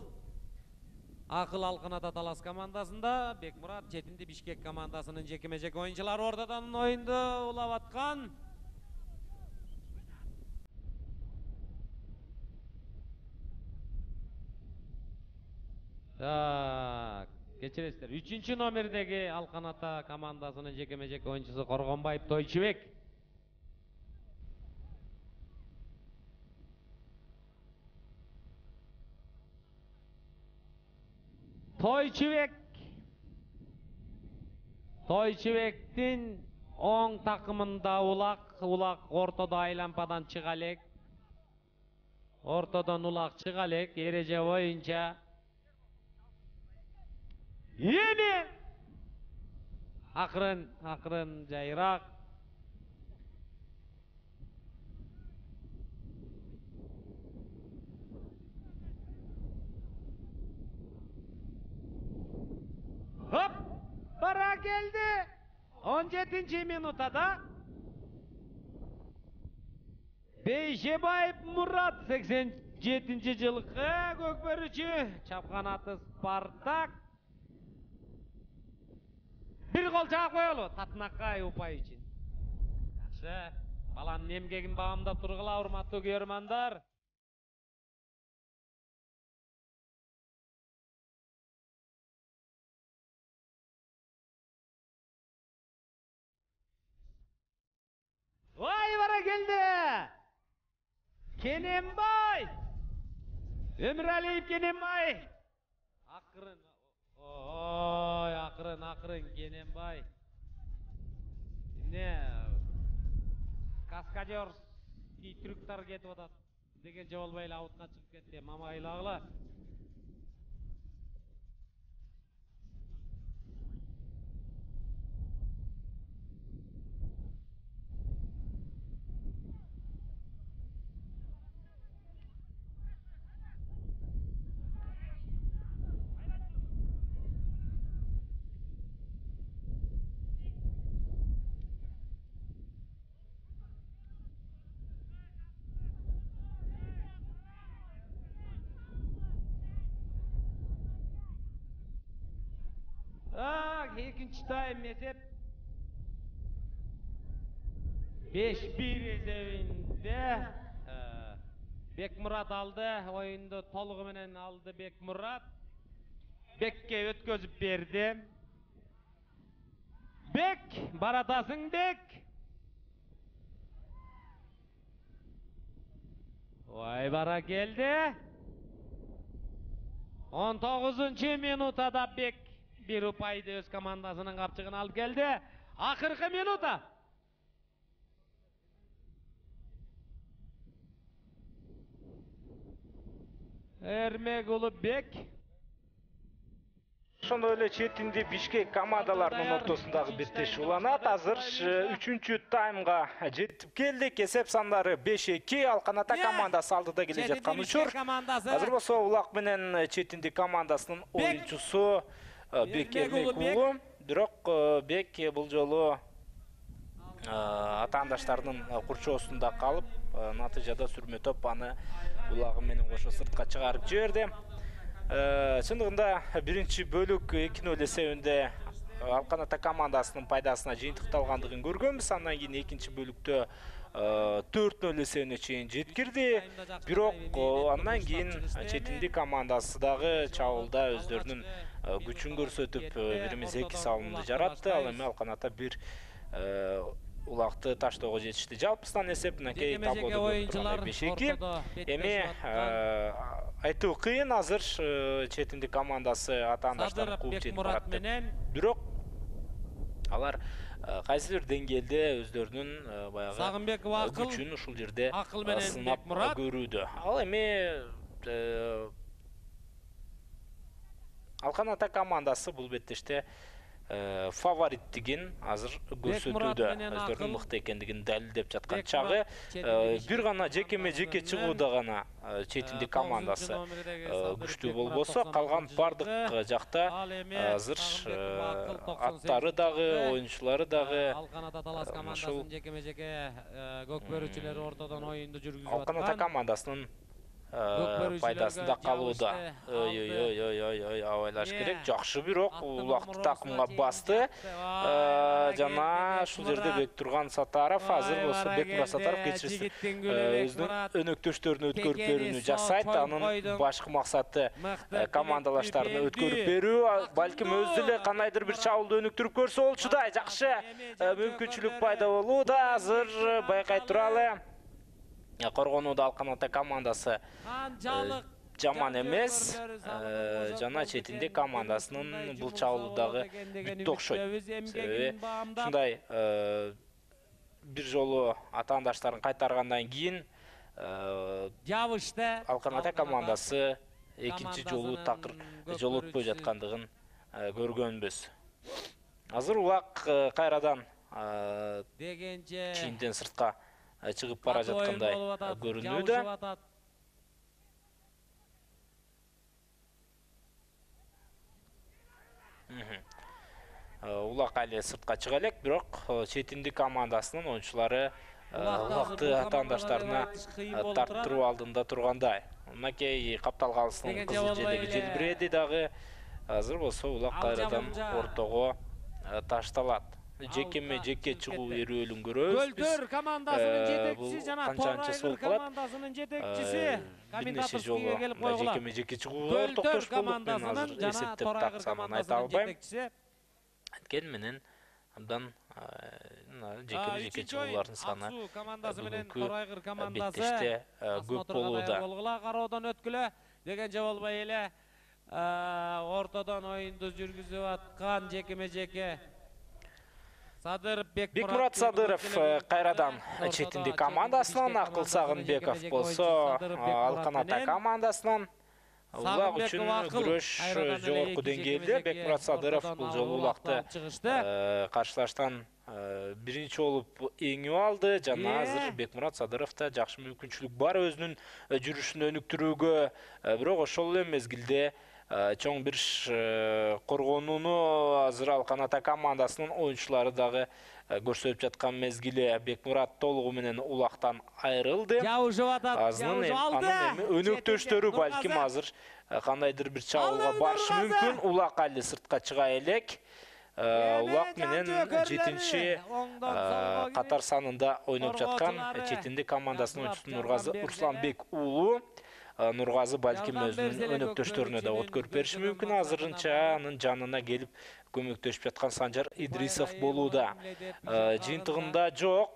Акыл Алканата Талас командасында, Бекмурат четинди Бишкек командасынын жекеме-жеке оюнчулары ортодон оюнду улап аткан. Кечиресиздер. 3-чү номердеги Алканата командасынын жекеме-жеке оюнчусу Коргонбаев Тойчубек. Тойчубектин оң такымында улак ортодо айлампадан чыга элек. Ортодон улак чыга элек, эреже боюнча. Эми акырын жайыраак. Хоп! Бара келди. 17-минутада Бейшебаев Мурат 87-жылкы көкбөрүчү, чапканаты Спартак. Бир гол жаап коелу Татынакай упай үчүн. Жакшы, баланын эмгегин баамдап тургула, урматтуу көрөрмандар. Ой, бара келди. Кененбай. Өмүралиев Кененбай. Акырын. Ой, акырын Кененбай. Эмне каскадерский трюктар кетип атат дегенче болбой эле аутка чыгып кетти. Мамайлагыла. экинчи тайм эсеп 5-1 эсебинде Бекмурат алды. Оюнду толугу менен алды Бекмурат. Бекке өткөзүп берди. Бек, баратасың Бек. Ой, бара келди. 19 минутада Бек bir упайды өз командасынын капчыгына алып келди. Акыркы минута. Эрмек уулу Бек. Ошондой эле четинди Бишкек командаларынын ортосундагы беттеш уланат. Азыр 3-чү таймга жетип келдик. Эсеп сандары 5-2. Алкан-Ата командасы алдыда келе жаткан учур. Азыр болсо Улак менен четинди командасынын оюнчусу Бек Эрмек уулу. Бирок Бек бул жолу атаандаштарынын курчоосунда калып, натыйжада сүрмө топ аны Улагы менен кошо сыртка чыгарып жиберди. Чындыгында биринчи бөлүк 2-0 эсебинде Алкан-Ата командасынын пайдасына жыйынтыкталгандыгын көргөнбүз. Андан кийин экинчи бөлүктө 4-0 эсебине чейин жеткирди. Бирок андан кийин четинди командасы дагы чабуулда өздөрүнүн күчүн көрсөтүп, бирimiz 2 салымды жаратты. Ал эми Алкан-Ата бир Улакты таштоого жетишти. Жалпысынан эсеп мынакей таблоодо 5-2. Эми айтуу кыйын, азыр четинди командасы атаандаштарын кууп жетип баратты. Бирок алар кайсы бир деңгээлде өздөрүнүн баягы күчүн ушул жерде сынап көрүүдө. Ал эми Алкан-Ата командасы бул беттеште фавориттигин азыр көрсөтүүдө, өздөрүнүн мыкты экендигин далилдеп жаткан чагы. Бир гана жеке чыгууда гана четинди командасы күчтүү болбосо, калган бардык жакта азыр аттары дагы, оюнчулары дагы Алкан-Ата Талас командасынын жекеме-жеке көк бөрүчүлөрү ортодон оюнду жүргүзүп аткан. Алкан-Ата командасынын пайдасында калууда. Абайлаш керек. Жакшы бирок Улакты такымга басты. Жана ушул жерде Бек Турган Сатаров, азыр болсо Бекмурат Сатаров кечирсин өзүнүн өнөктөштөрүнө өткөрүп берүүнү жасайт. Анын башкы максаты командалаштарына өткөрүп берүү, балким өзү эле кандайдыр бир чабуулду өнүктүрүп көрсө болчудай. Жакшы мүмкүнчүлүк пайда болууда. Азыр байкай туралы. Коргонууда Алкан-Ата командасы жаман эмес. Жана четинди командасынын бул чабуулдагы бүттү окшойт. Себеби ушундай бир жолу атаандаштарын кайтаргандан кийин Алкан-Ата командасы экинчи жолу такыр жолотпой жаткандыгын көргөнбүз. Азыр Улак кайрадан чийинден сыртка чыгып бара жаткандай көрүнүүдө. Улак али сыртка чыга элек, бирок четинди командасынын оюнчулары Улакты атаандаштарына тарттыруу алдында тургандай. Мынакей капталгалысынын кызыл желеги желбиреди дагы. Азыр болсо Улак кайрадан ортого ташталат. Жеке чыгуу эрүүлүн көрөбүз. Көлтөр командасынын жетекчиси жана Торайгыр командасынын жетекчиси комментаторскийге келип койгула. Жеке чыгууга токтош болуп, мен азыр эсептеп таксамын айта албайм. Анткени менен абдан жеке чыгуулардын саны командасы менен Торайгыр командасы көп болууда. Кароодон өткүлө дегенче болбой эле ортодон оюнду жүргүзүп аткан жекеме-жеке Бекмурат Садыров кайрадан четинди командасынан, Акыл Сагынбеков болсо Алкан-Ата командасынан. Улак үчүн күрөш жогорку деңгээлде. Бекмурат Садыров бул жолу Улакты каршылаштан биринчи болуп эңип алды. Жана азыр Бекмурат Садыровда жакшы мүмкүнчүлүк бар өзүнүн жүрүшүн өнүктүрүүгө, бирок ошол эле мезгилде чоң бир коргонууну азыр Алкан-Ата командасынын оюнчулары дагы көрсөтүп жаткан мезгили. Бекмурат толугу менен Улактан айрылды. Анын эми өнөктөштөрү балким азыр кандайдыр бир чабуулга барышы мүмкүн. Улак али сыртка чыга элек. улак менен 7-чи катар санында ойноп жаткан четиндик командасынын oyuncusu Нургазы Русланбек уулу. Нургазы балким өзүнүн өнөктөштөрүнө да от көрүп бериши мүмкүн. Азырынча анын жанына келип көмөктөшүп жаткан Санжар Идрисов болууда. Жыйынтыгында жок.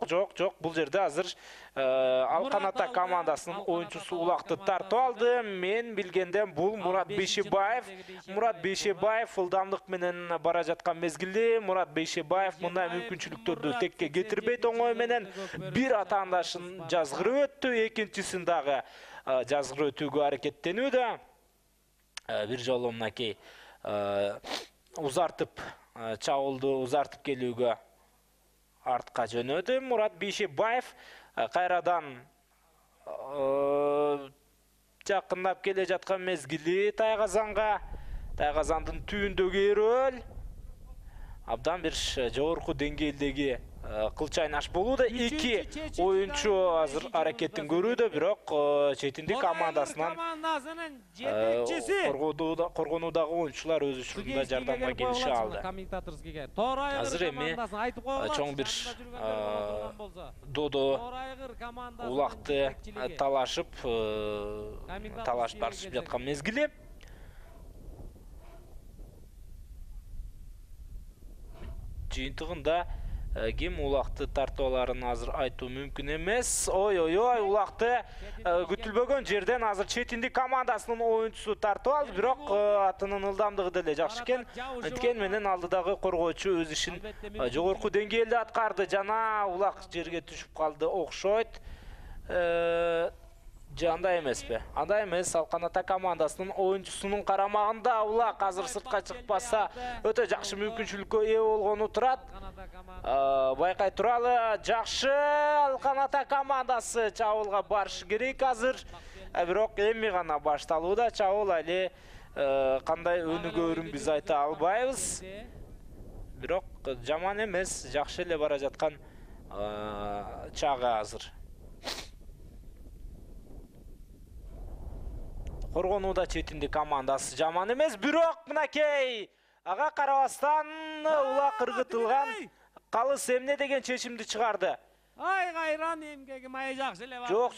Бул жерде азыр Алкан Ата командасынын oyuncusu улакты тартып алды. Мен билгенден бул Мурат Бейшебаев. Мурат Бейшебаев ылдамдык менен бара жаткан мезгилде Мурат Бейшебаев мындай мүмкүнчүлүктөрдү текке кетирбейт оңой менен. Бир атаандашын жазгырып өттү, экинчисин дагы жазгырып өтүүгө аракеттенүүдө. Бир жолу мынакей узартып чабуулду узартып келүүгө артка жөнөдү Мурат Бейшебаев. Кайрадан жакындап келе жаткан мезгили Тайгазандын түбүндөгү Эрөл абдан бир жогорку деңгээлдеги кылч айнаш болууда. Эки oyuncu азыр аракеттин көрүүдө, бирок четиндик командасынан коргонуудагы oyuncular өз учурунда жардамга келише алды. Азыр эми чоң бир додо улакты талашып барышып жаткан мезгили. Жыйынтыгында ким улакты тартып аларын азыр айтуу мүмкүн эмес. Ой, улакты күтүлбөгөн жерден азыр четиндик командасынын oyuncusu тартып алды, бирок атынын ылдамдыгы деле жакшы экен. Анткени менен алдыдагы коргоочу өз ишин жогорку деңгээлде аткарды. Жана улак жерге түшүп калды окшойт. Андай эмеспи? Андай эмес. Алкан Ата командасынын oyuncusunун карамагында улак азыр сыртка чыкпаса өтө жакшы мүмкүнчүлүккө ээ болгону турат. Байкай туралы. Жакшы, Алкан Ата командасы чабуулга барышы керек азыр. Бирок эми гана башталууда чабуул, али кандай өнүгөрүн биз айта албайбыз. Бирок жаман эмес, жакшы эле бара жаткан чагы азыр. Коргонууда четиндик командасы жаман эмес, бирок мынакей ага карабастан улак ыргытылган. Калыс эмне деген чечимди чыгарды? Ай кайран эмгеги май жакшы эле бар. Жок,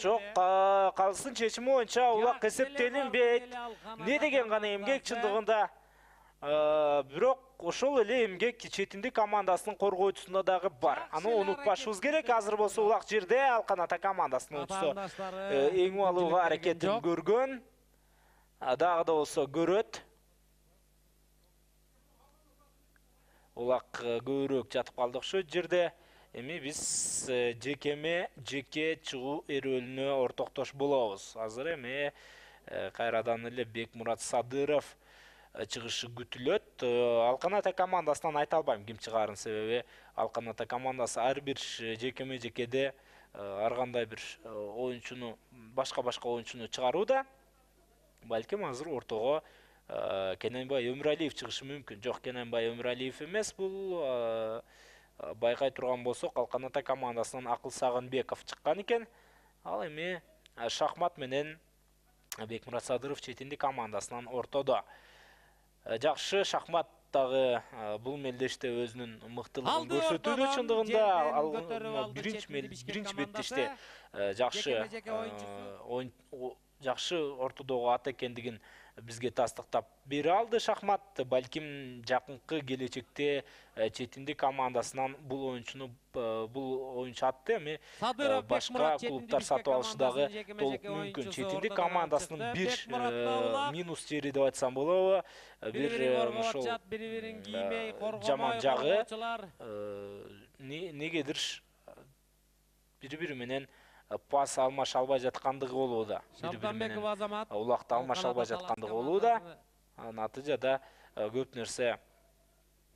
калыстын чечими боюнча улак эсептелинбейт. Не деген гана эмгек чындыгында. Бирок ошол эле эмгек четиндик командасынын коргоочусунда дагы бар. Аны унутпашыбыз керек. Азыр болсо улак жерде Алкан Ата командасынын oyuncusu эң алууга аракетин көргөн. Дагы да болсо көрөт. Улак көбүрөөк жатып калды окшойт жерде. Эми биз жеке чыгуу эрөлүнө ортоктош болобуз. Азыр эми кайрадан эле Бекмурат Садыров чыгышы күтүлөт. Алкан Ата командасынан айта албайм ким чыгарын, себеби Алкан Ата командасы ар бир жекеде ар кандай бир oyuncuну, башка oyuncuну чыгарууда. Балким азыр ортого Кененбай Өмүралиев чыгышы мүмкүн. Жок, Кененбай Өмүралиев эмес, бул байкай турган болсок Алкан Ата командасынан Акыл Сагынбеков чыккан экен. Ал эми шахмат менен Бекмурат Садыров четиндик командасынан ортодо. Жакшы, шахмат дагы бул мелдеште өзүнүн мыктылыгын көрсөтүүдө. Чындыгында биринчи беттеште жакшы ортодогу ат экендигин бизге тастыктап бере алды шахмат. Балким жакынкы келечекте четиндик командасынан бул oyuncu атты эми башка клубтар сатып алышы дагы толук мүмкүн. Четиндик командасынын бир минус жери деп айтсам болобу, бир ошол жаман жагы негедир бири-бири менен пас алмаш албай жаткандыгы болууда. Улакты алмаш албай жаткандыгы болууда. Натыйжада көп нерсе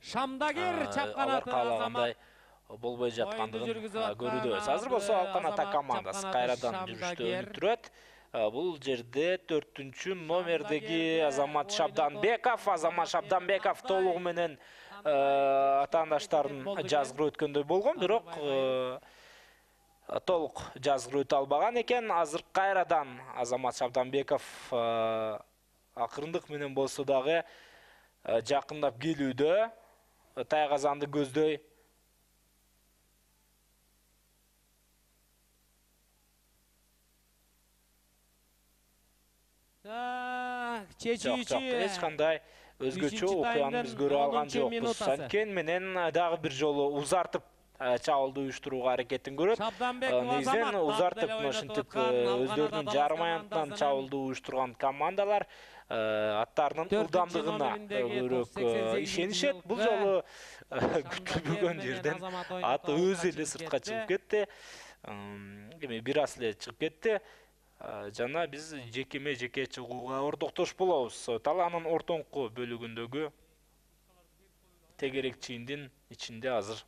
Шамдагер чапканаты Азамат болбой жаткандыгын көрүүбүз. Азыр болсо Алкан Ата командасы кайрадан жүрүштө өнүктүрөт. Бул жерде 4-чү номердеги Азамат Шабданбеков. Азамат Шабданбеков толугу менен атаандаштарын жазгырып өткөндөй болгон, бирок толук жазгырып өтө албаган экен. Азыр кайрадан Азамат Шабданбеков акырындык менен болсо дагы жакындап келүүдө. тайгазанды көздөй. Чечүүчү Эч кандай өзгөчө окуяны биз көрө алган жокпуз. Анткени менен дагы бир жолу узартып чабуулду уюштурууга аракетин көрөт. Негизинен узартып ушинтип өздөрүнүн жарым аянтынан чабуулду уюштурган командалар аттарынын ылдамдыгына көбүрөөк ишенишет. Бул жолу күтүлбөгөн жерден ат өзү эле сыртка чыгып кетти. Эми бир аз эле чыгып кетти. Жана биз жеке чыгууга ордоктош болобуз. Талаанын ортоңку бөлүгүндөгү тегерек чийиндин ичинде азыр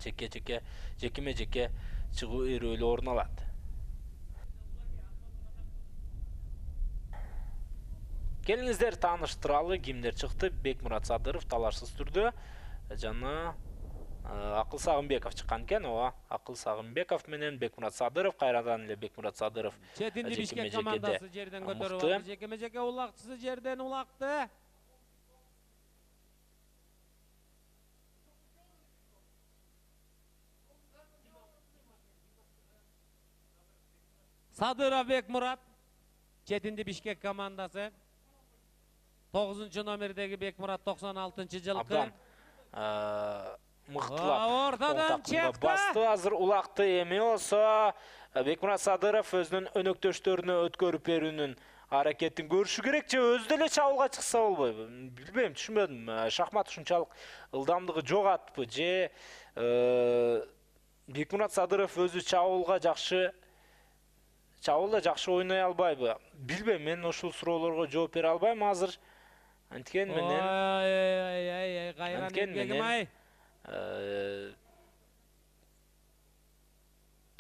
жеке чыгуу эрөөлү орун алат. Келиңиздер тааныштыралы кимдер чыкты. Бекмурат Садыров талашсыз түрдө жана Акыл Сагынбеков чыккан экен. Ооба, Акыл Сагынбеков менен Бекмурат Садыров, кайрадан эле Бекмурат Садыров Четинди Бишкек командасы жерден көтөрүп алды. Жекеме-жеке улакчысы жерден улакты. Садыров Бекмурат, Четинди Бишкек командасы. 9 номердеги Бекмурат 96-жылкы. Абдан мыктылап ортодон чекти. Басты азыр улакты. Эми болсо Бекмурат Садыров өзүнүн өнөктөштөрүнө өткөрүп берүүнүн аракетин көрүшү керек же өзү деле чабуулга чыкса болбойбу? Билбейм, түшүнбөдүм. Шахмат ушунчалык ылдамдыгы жок атпы же Бекмурат Садыров өзү чабуулда жакшы ойной албайбы? Билбейм, мен ушул суроолорго жооп бере албайм азыр. Анткени менен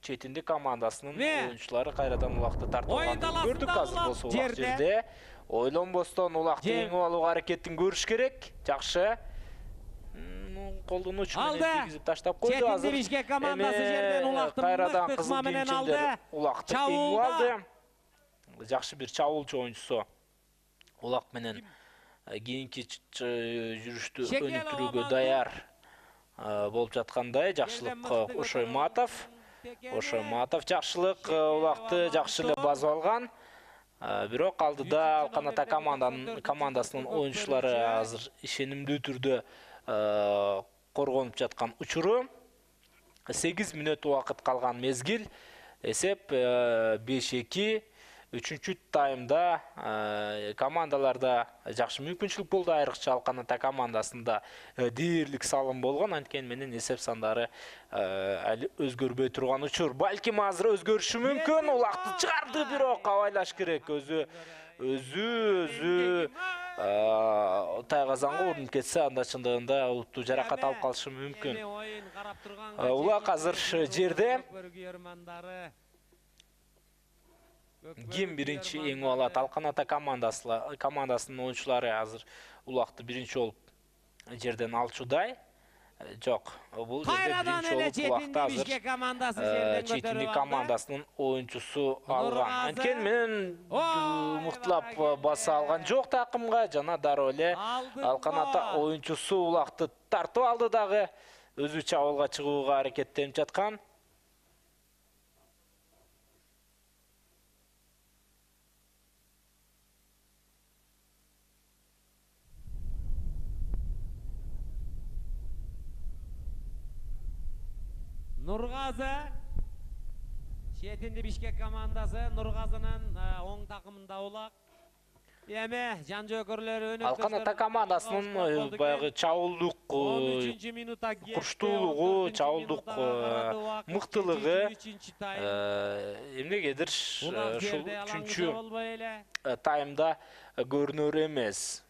Четинди командасынын оюнчулары кайрадан улакты тартып алганын көрдүк. Азыр болсо улак жерде ойлонбостон улакты эңип алууга аракетин көрүш керек. Жакшы. Колдонуучу менен тийгизип таштап койду. Азыр Четинди Бишкек командасы жерден улакты кайрадан кызыл кийимчилер улакты эңип алды. Жакшы бир чабуулчу оюнчусу улак менен кийинки жүрүштү өнүктүрүүгө даяр болуп жаткандай. Жакшылык Ошой Матов жакшылык улакты жакшы эле басып алган. Бирок алдыда Алканата командасынын оюнчулары азыр ишенимдүү түрдө коргонуп жаткан учуру. 8 мүнөт убакыт калган мезгил. Эсеп 5-2. 3-чү таймда командаларда жакшы мүмкүнчүлүк болду. Айрыкча Алканата командасында дээрлик салым болгон. Анткени менен эсеп сандары али өзгөрбөй турган учур. Балким азыр өзгөрүшү мүмкүн. Улакты чыгарды, бирок абайлаш керек. Өзү тайгазанга урунуп кетсе, анда чындыгында олуттуу жаракат алып калышы мүмкүн. Улак азыр жерде. Ким биринчи эңип алат? Алканата командасынын оюнчулары азыр улакты биринчи болуп жерден алчудай. Жок, бул жерде биринчи болуп улакты азыр Четинди командасынын оюнчусу алган. Анткени менен мыктылап баса алган жок такымга, жана дароо эле Алканата оюнчусу улакты тартып алды дагы. Өзү чабуулга чыгууга аракеттенип жаткан. Нургазы, Четинди Бишкек командасы, Нургазынын оң такымында улак. Эми жан жөөкөрлөрү өнөктөштөр. Алканата командасынын баягы чабуулдук курчтуулугу, чабуулдук мыктылыгы эмнегедир ушул 3-чү таймда көрүнөр эмес.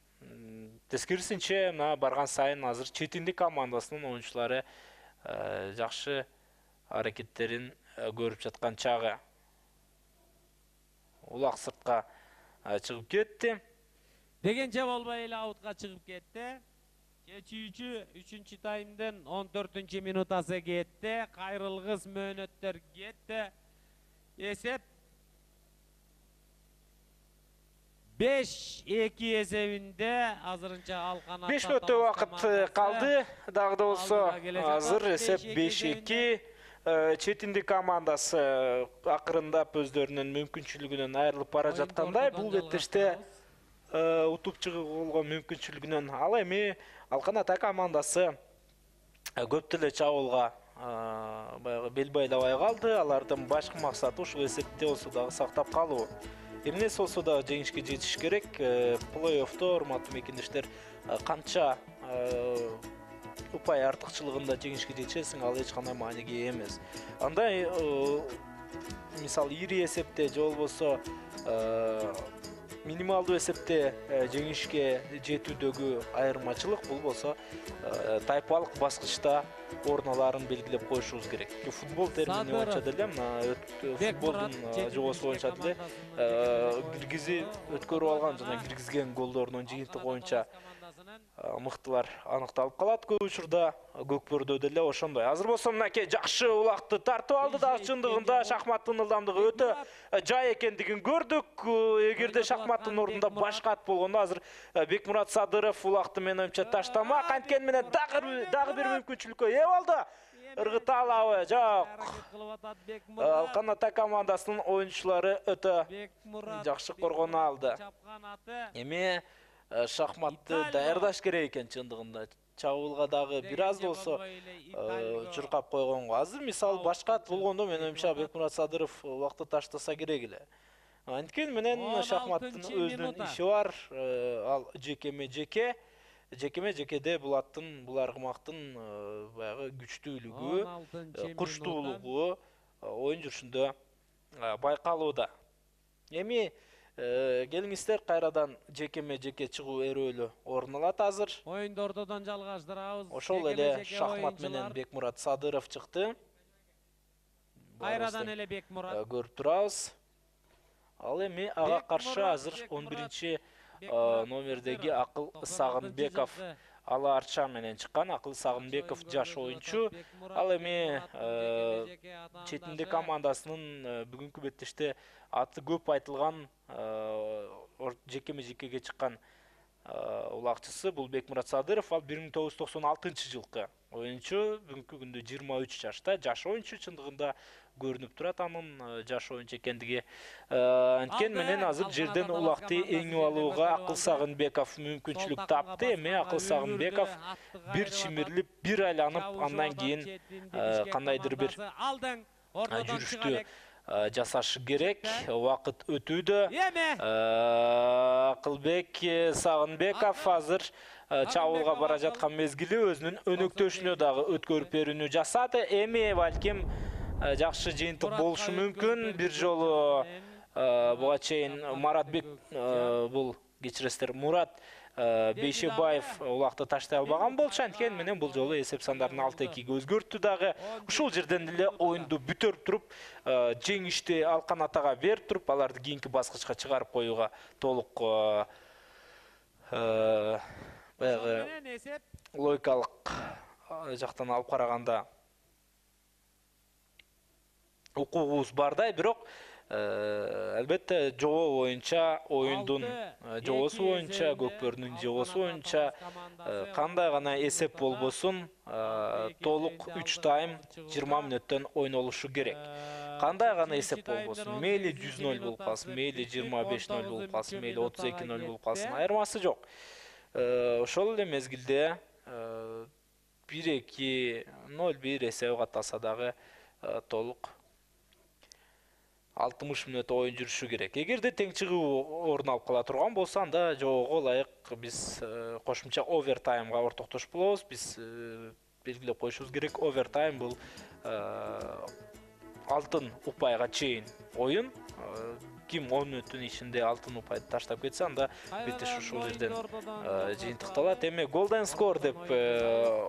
Тескерисинче, барган сайын азыр Четинди командасынын оюнчулары жакшы аракеттерин көрүп жаткан чагы. Улак сыртка чыгып кетти. Дегенче болбой эле аутка чыгып кетти. Чечүүчү 3-чү таймдын 14-чү минутасы кетти. Кайрылгыс мөөнөттөр кетти. Эсеп 5-2 эсебинде азырынча Алкан 5 мүнөттө убакыт калды. Дагы да болсо азыр эсеп 5-2. Четинди командасы акырындап өздөрүнүн мүмкүнчүлүгүнөн айрылып бара жаткандай. Бул беттеште утуп чыгып болгон мүмкүнчүлүгүнөн. Ал эми Алкан Ата командасы көп деле чабуулга баягы бел байлабай калды. Алардын башкы максаты ушул эсепте болсо дагы сактап калуу. Эмнеси болсо дагы жеңишке жетиш керек. Плей-оффто урматтуу мекендештер канча упай артыкчылыгында жеңишке жетишесиң, ал эч кандай мааниге ээ эмес. Андай мисалы ири эсепте же болбосо минималдуу эсепте жеңишке жетүүдөгү айырмачылык бул болсо тайпалык баскычта орун аларын белгилеп коюшубуз керек. Футбол термини боюнча деле футболдун жобосу боюнча деле киргизип өткөрүп алган жана киргизген голдорунун жыйынтыгы боюнча мыктылар аныкталып калат. Көп учурда Көкбөрдө деле ошондой. Азыр болсо мынакей жакшы улакты тартып алды дагы чындыгында шахматтын ылдамдыгы өтө жай экендигин көрдүк. Эгерде шахматтын ордунда башка ат болгондо азыр Бекмурат Садыров улакты менин оюмча таштамак. Анткени менен дагы бир мүмкүнчүлүккө ээ болду. Ыргыта алабы? Жок. Алкан Ата командасынын оюнчулары өтө жакшы коргоно алды. Эми шахматты даярдаш керек экен чындыгында. Чабуулга дагы бир аз болсо чуркап койгонго. Азыр мисалы башка ат болгондо менин оюмча Бекмурат Садыров убакты таштаса керек эле. Анткени менен шахматтын өзүнүн иши бар. Ал жекеме-жеке. Жекеме-жекеде бул аттын, бул аргымактын баягы күчтүүлүгү, курчтуулугу оюн жүрүшүндө байкалууда. Эми келиңиздер кайрадан жекеме-жеке чыгуу эрөөлү орун алат азыр. Оюнду ортодон жалгаштырабыз. Ошол эле шахмат менен Бекмурат Садыров чыкты. Кайрадан эле Бекмурат. Көрүп турабыз. Ал эми ага каршы азыр 11-чи номердеги Акыл Сагынбеков Ала Арча менен чыккан. Акыл Сагынбеков жаш оюнчу. Ал эми четинди командасынын бүгүнкү беттеште аты көп айтылган жекеме-жекеге чыккан улакчысы бул Бекмурат Садыров. Ал 1996-жылкы оюнчу, бүгүнкү күндө 23 жашта, жаш оюнчу чындыгында көрүнүп турат анын жаш оюнчу экендиги. Анткени менен азыр жерден улакты эңип алууга Акыл Сагынбеков мүмкүнчүлүк тапты. Эми Акыл Сагынбеков бир чимирлип, бир айланып, андан кийин кандайдыр бир жүрүштү жасашы керек. Убакыт өтүүдө. Акылбек Сагынбеков азыр чабуулга бара жаткан мезгили өзүнүн өнөктөшүнө дагы өткөрүп берүүнү жасады. Эми балким жакшы жыйынтык болушу мүмкүн. Бир жолу буга чейин Маратбек бул кечиресиздер Мурат Бейшебаев улакты таштай албаган болчу. Анткени менен бул жолу эсеп сандарын 6-2-ге өзгөрттү дагы. Ушул жерден эле оюнду бүтөрүп туруп, жеңишти Алкан Атага берип туруп, аларды кийинки баскычка чыгарып коюуга толук баягы логикалык жактан алып караганда укугубуз бардай, бирок албетте жобо боюнча, оюндун жобосу боюнча, Көкбөрдүн жобосу боюнча кандай гана эсеп болбосун, толук 3 тайм 20 мүнөттөн ойнолушу керек. Кандай гана эсеп болбосун, мейли 100-0 болуп калсын, мейли 25-0 болуп калсын, мейли 32-0 болуп калсын, айырмасы жок. Ошол эле мезгилде 1-2-0-1 эсеби катталса дагы толук 60 мүнөт оюн жүрүшү керек. Эгерде тең чыгуу орун алып кала турган болсо, анда жобого ылайык биз кошумча овертаймга ортоктош болобуз. Биз белгилеп коюшубуз керек. Овертайм бул алтын упайга чейин оюн. Ким 10 мүнөттүн ичинде алтын упайды таштап кетсе, анда беттеш ушул жерден жыйынтыкталат. Эми golden score деп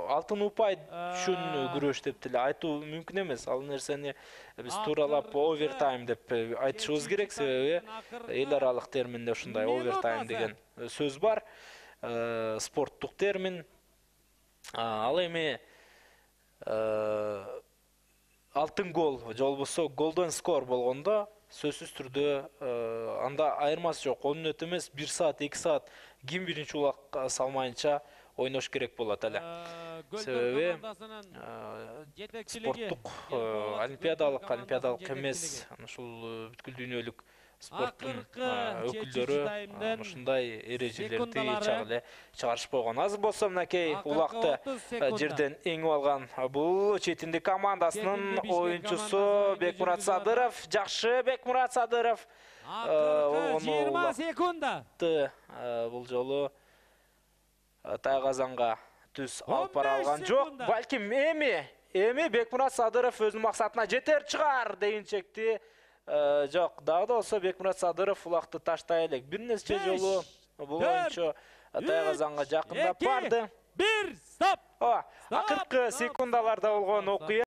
алтын упай үчүн күрөш деп деле айтуу мүмкүн эмес. Ал нерсени биз тууралап овертайм деп айтышыбыз керек, себеби эл аралык терминде ушундай овертайм деген сөз бар. Спорттук термин. Ал эми алтын гол же болбосо golden score болгондо сөзсүз түрдө анда айырмасы жок. 10 мүнөт эмес, 1 саат, 2 саат ким биринчи улак салмайынча ойнош керек болот эле. Себеби спорттук олимпиадалык эмес, ушул бүткүл дүйнөлүк спорттун өкүлдөрү ушундай эрежелерди чыгарышып койгон. Азыр болсо мынакей улакты жерден эңип алган бул чет элдик командасынын оюнчусу Бекмурат Садыров. Жакшы Бекмурат Садыров. 20 секунда. Бул жолу тайгазанга түз алып бара алган жок. Балким эми Бекмурат Садыров өзүнүн максатына жетер чыгар дегенчекти. Жок, дагы да болсо Бекмурат Садыров улакты таштай элек. Бир нече жолу бул оюнчу тайгазанга жакындап барды. 1 стоп. Акыркы секундаларда болгон окуя.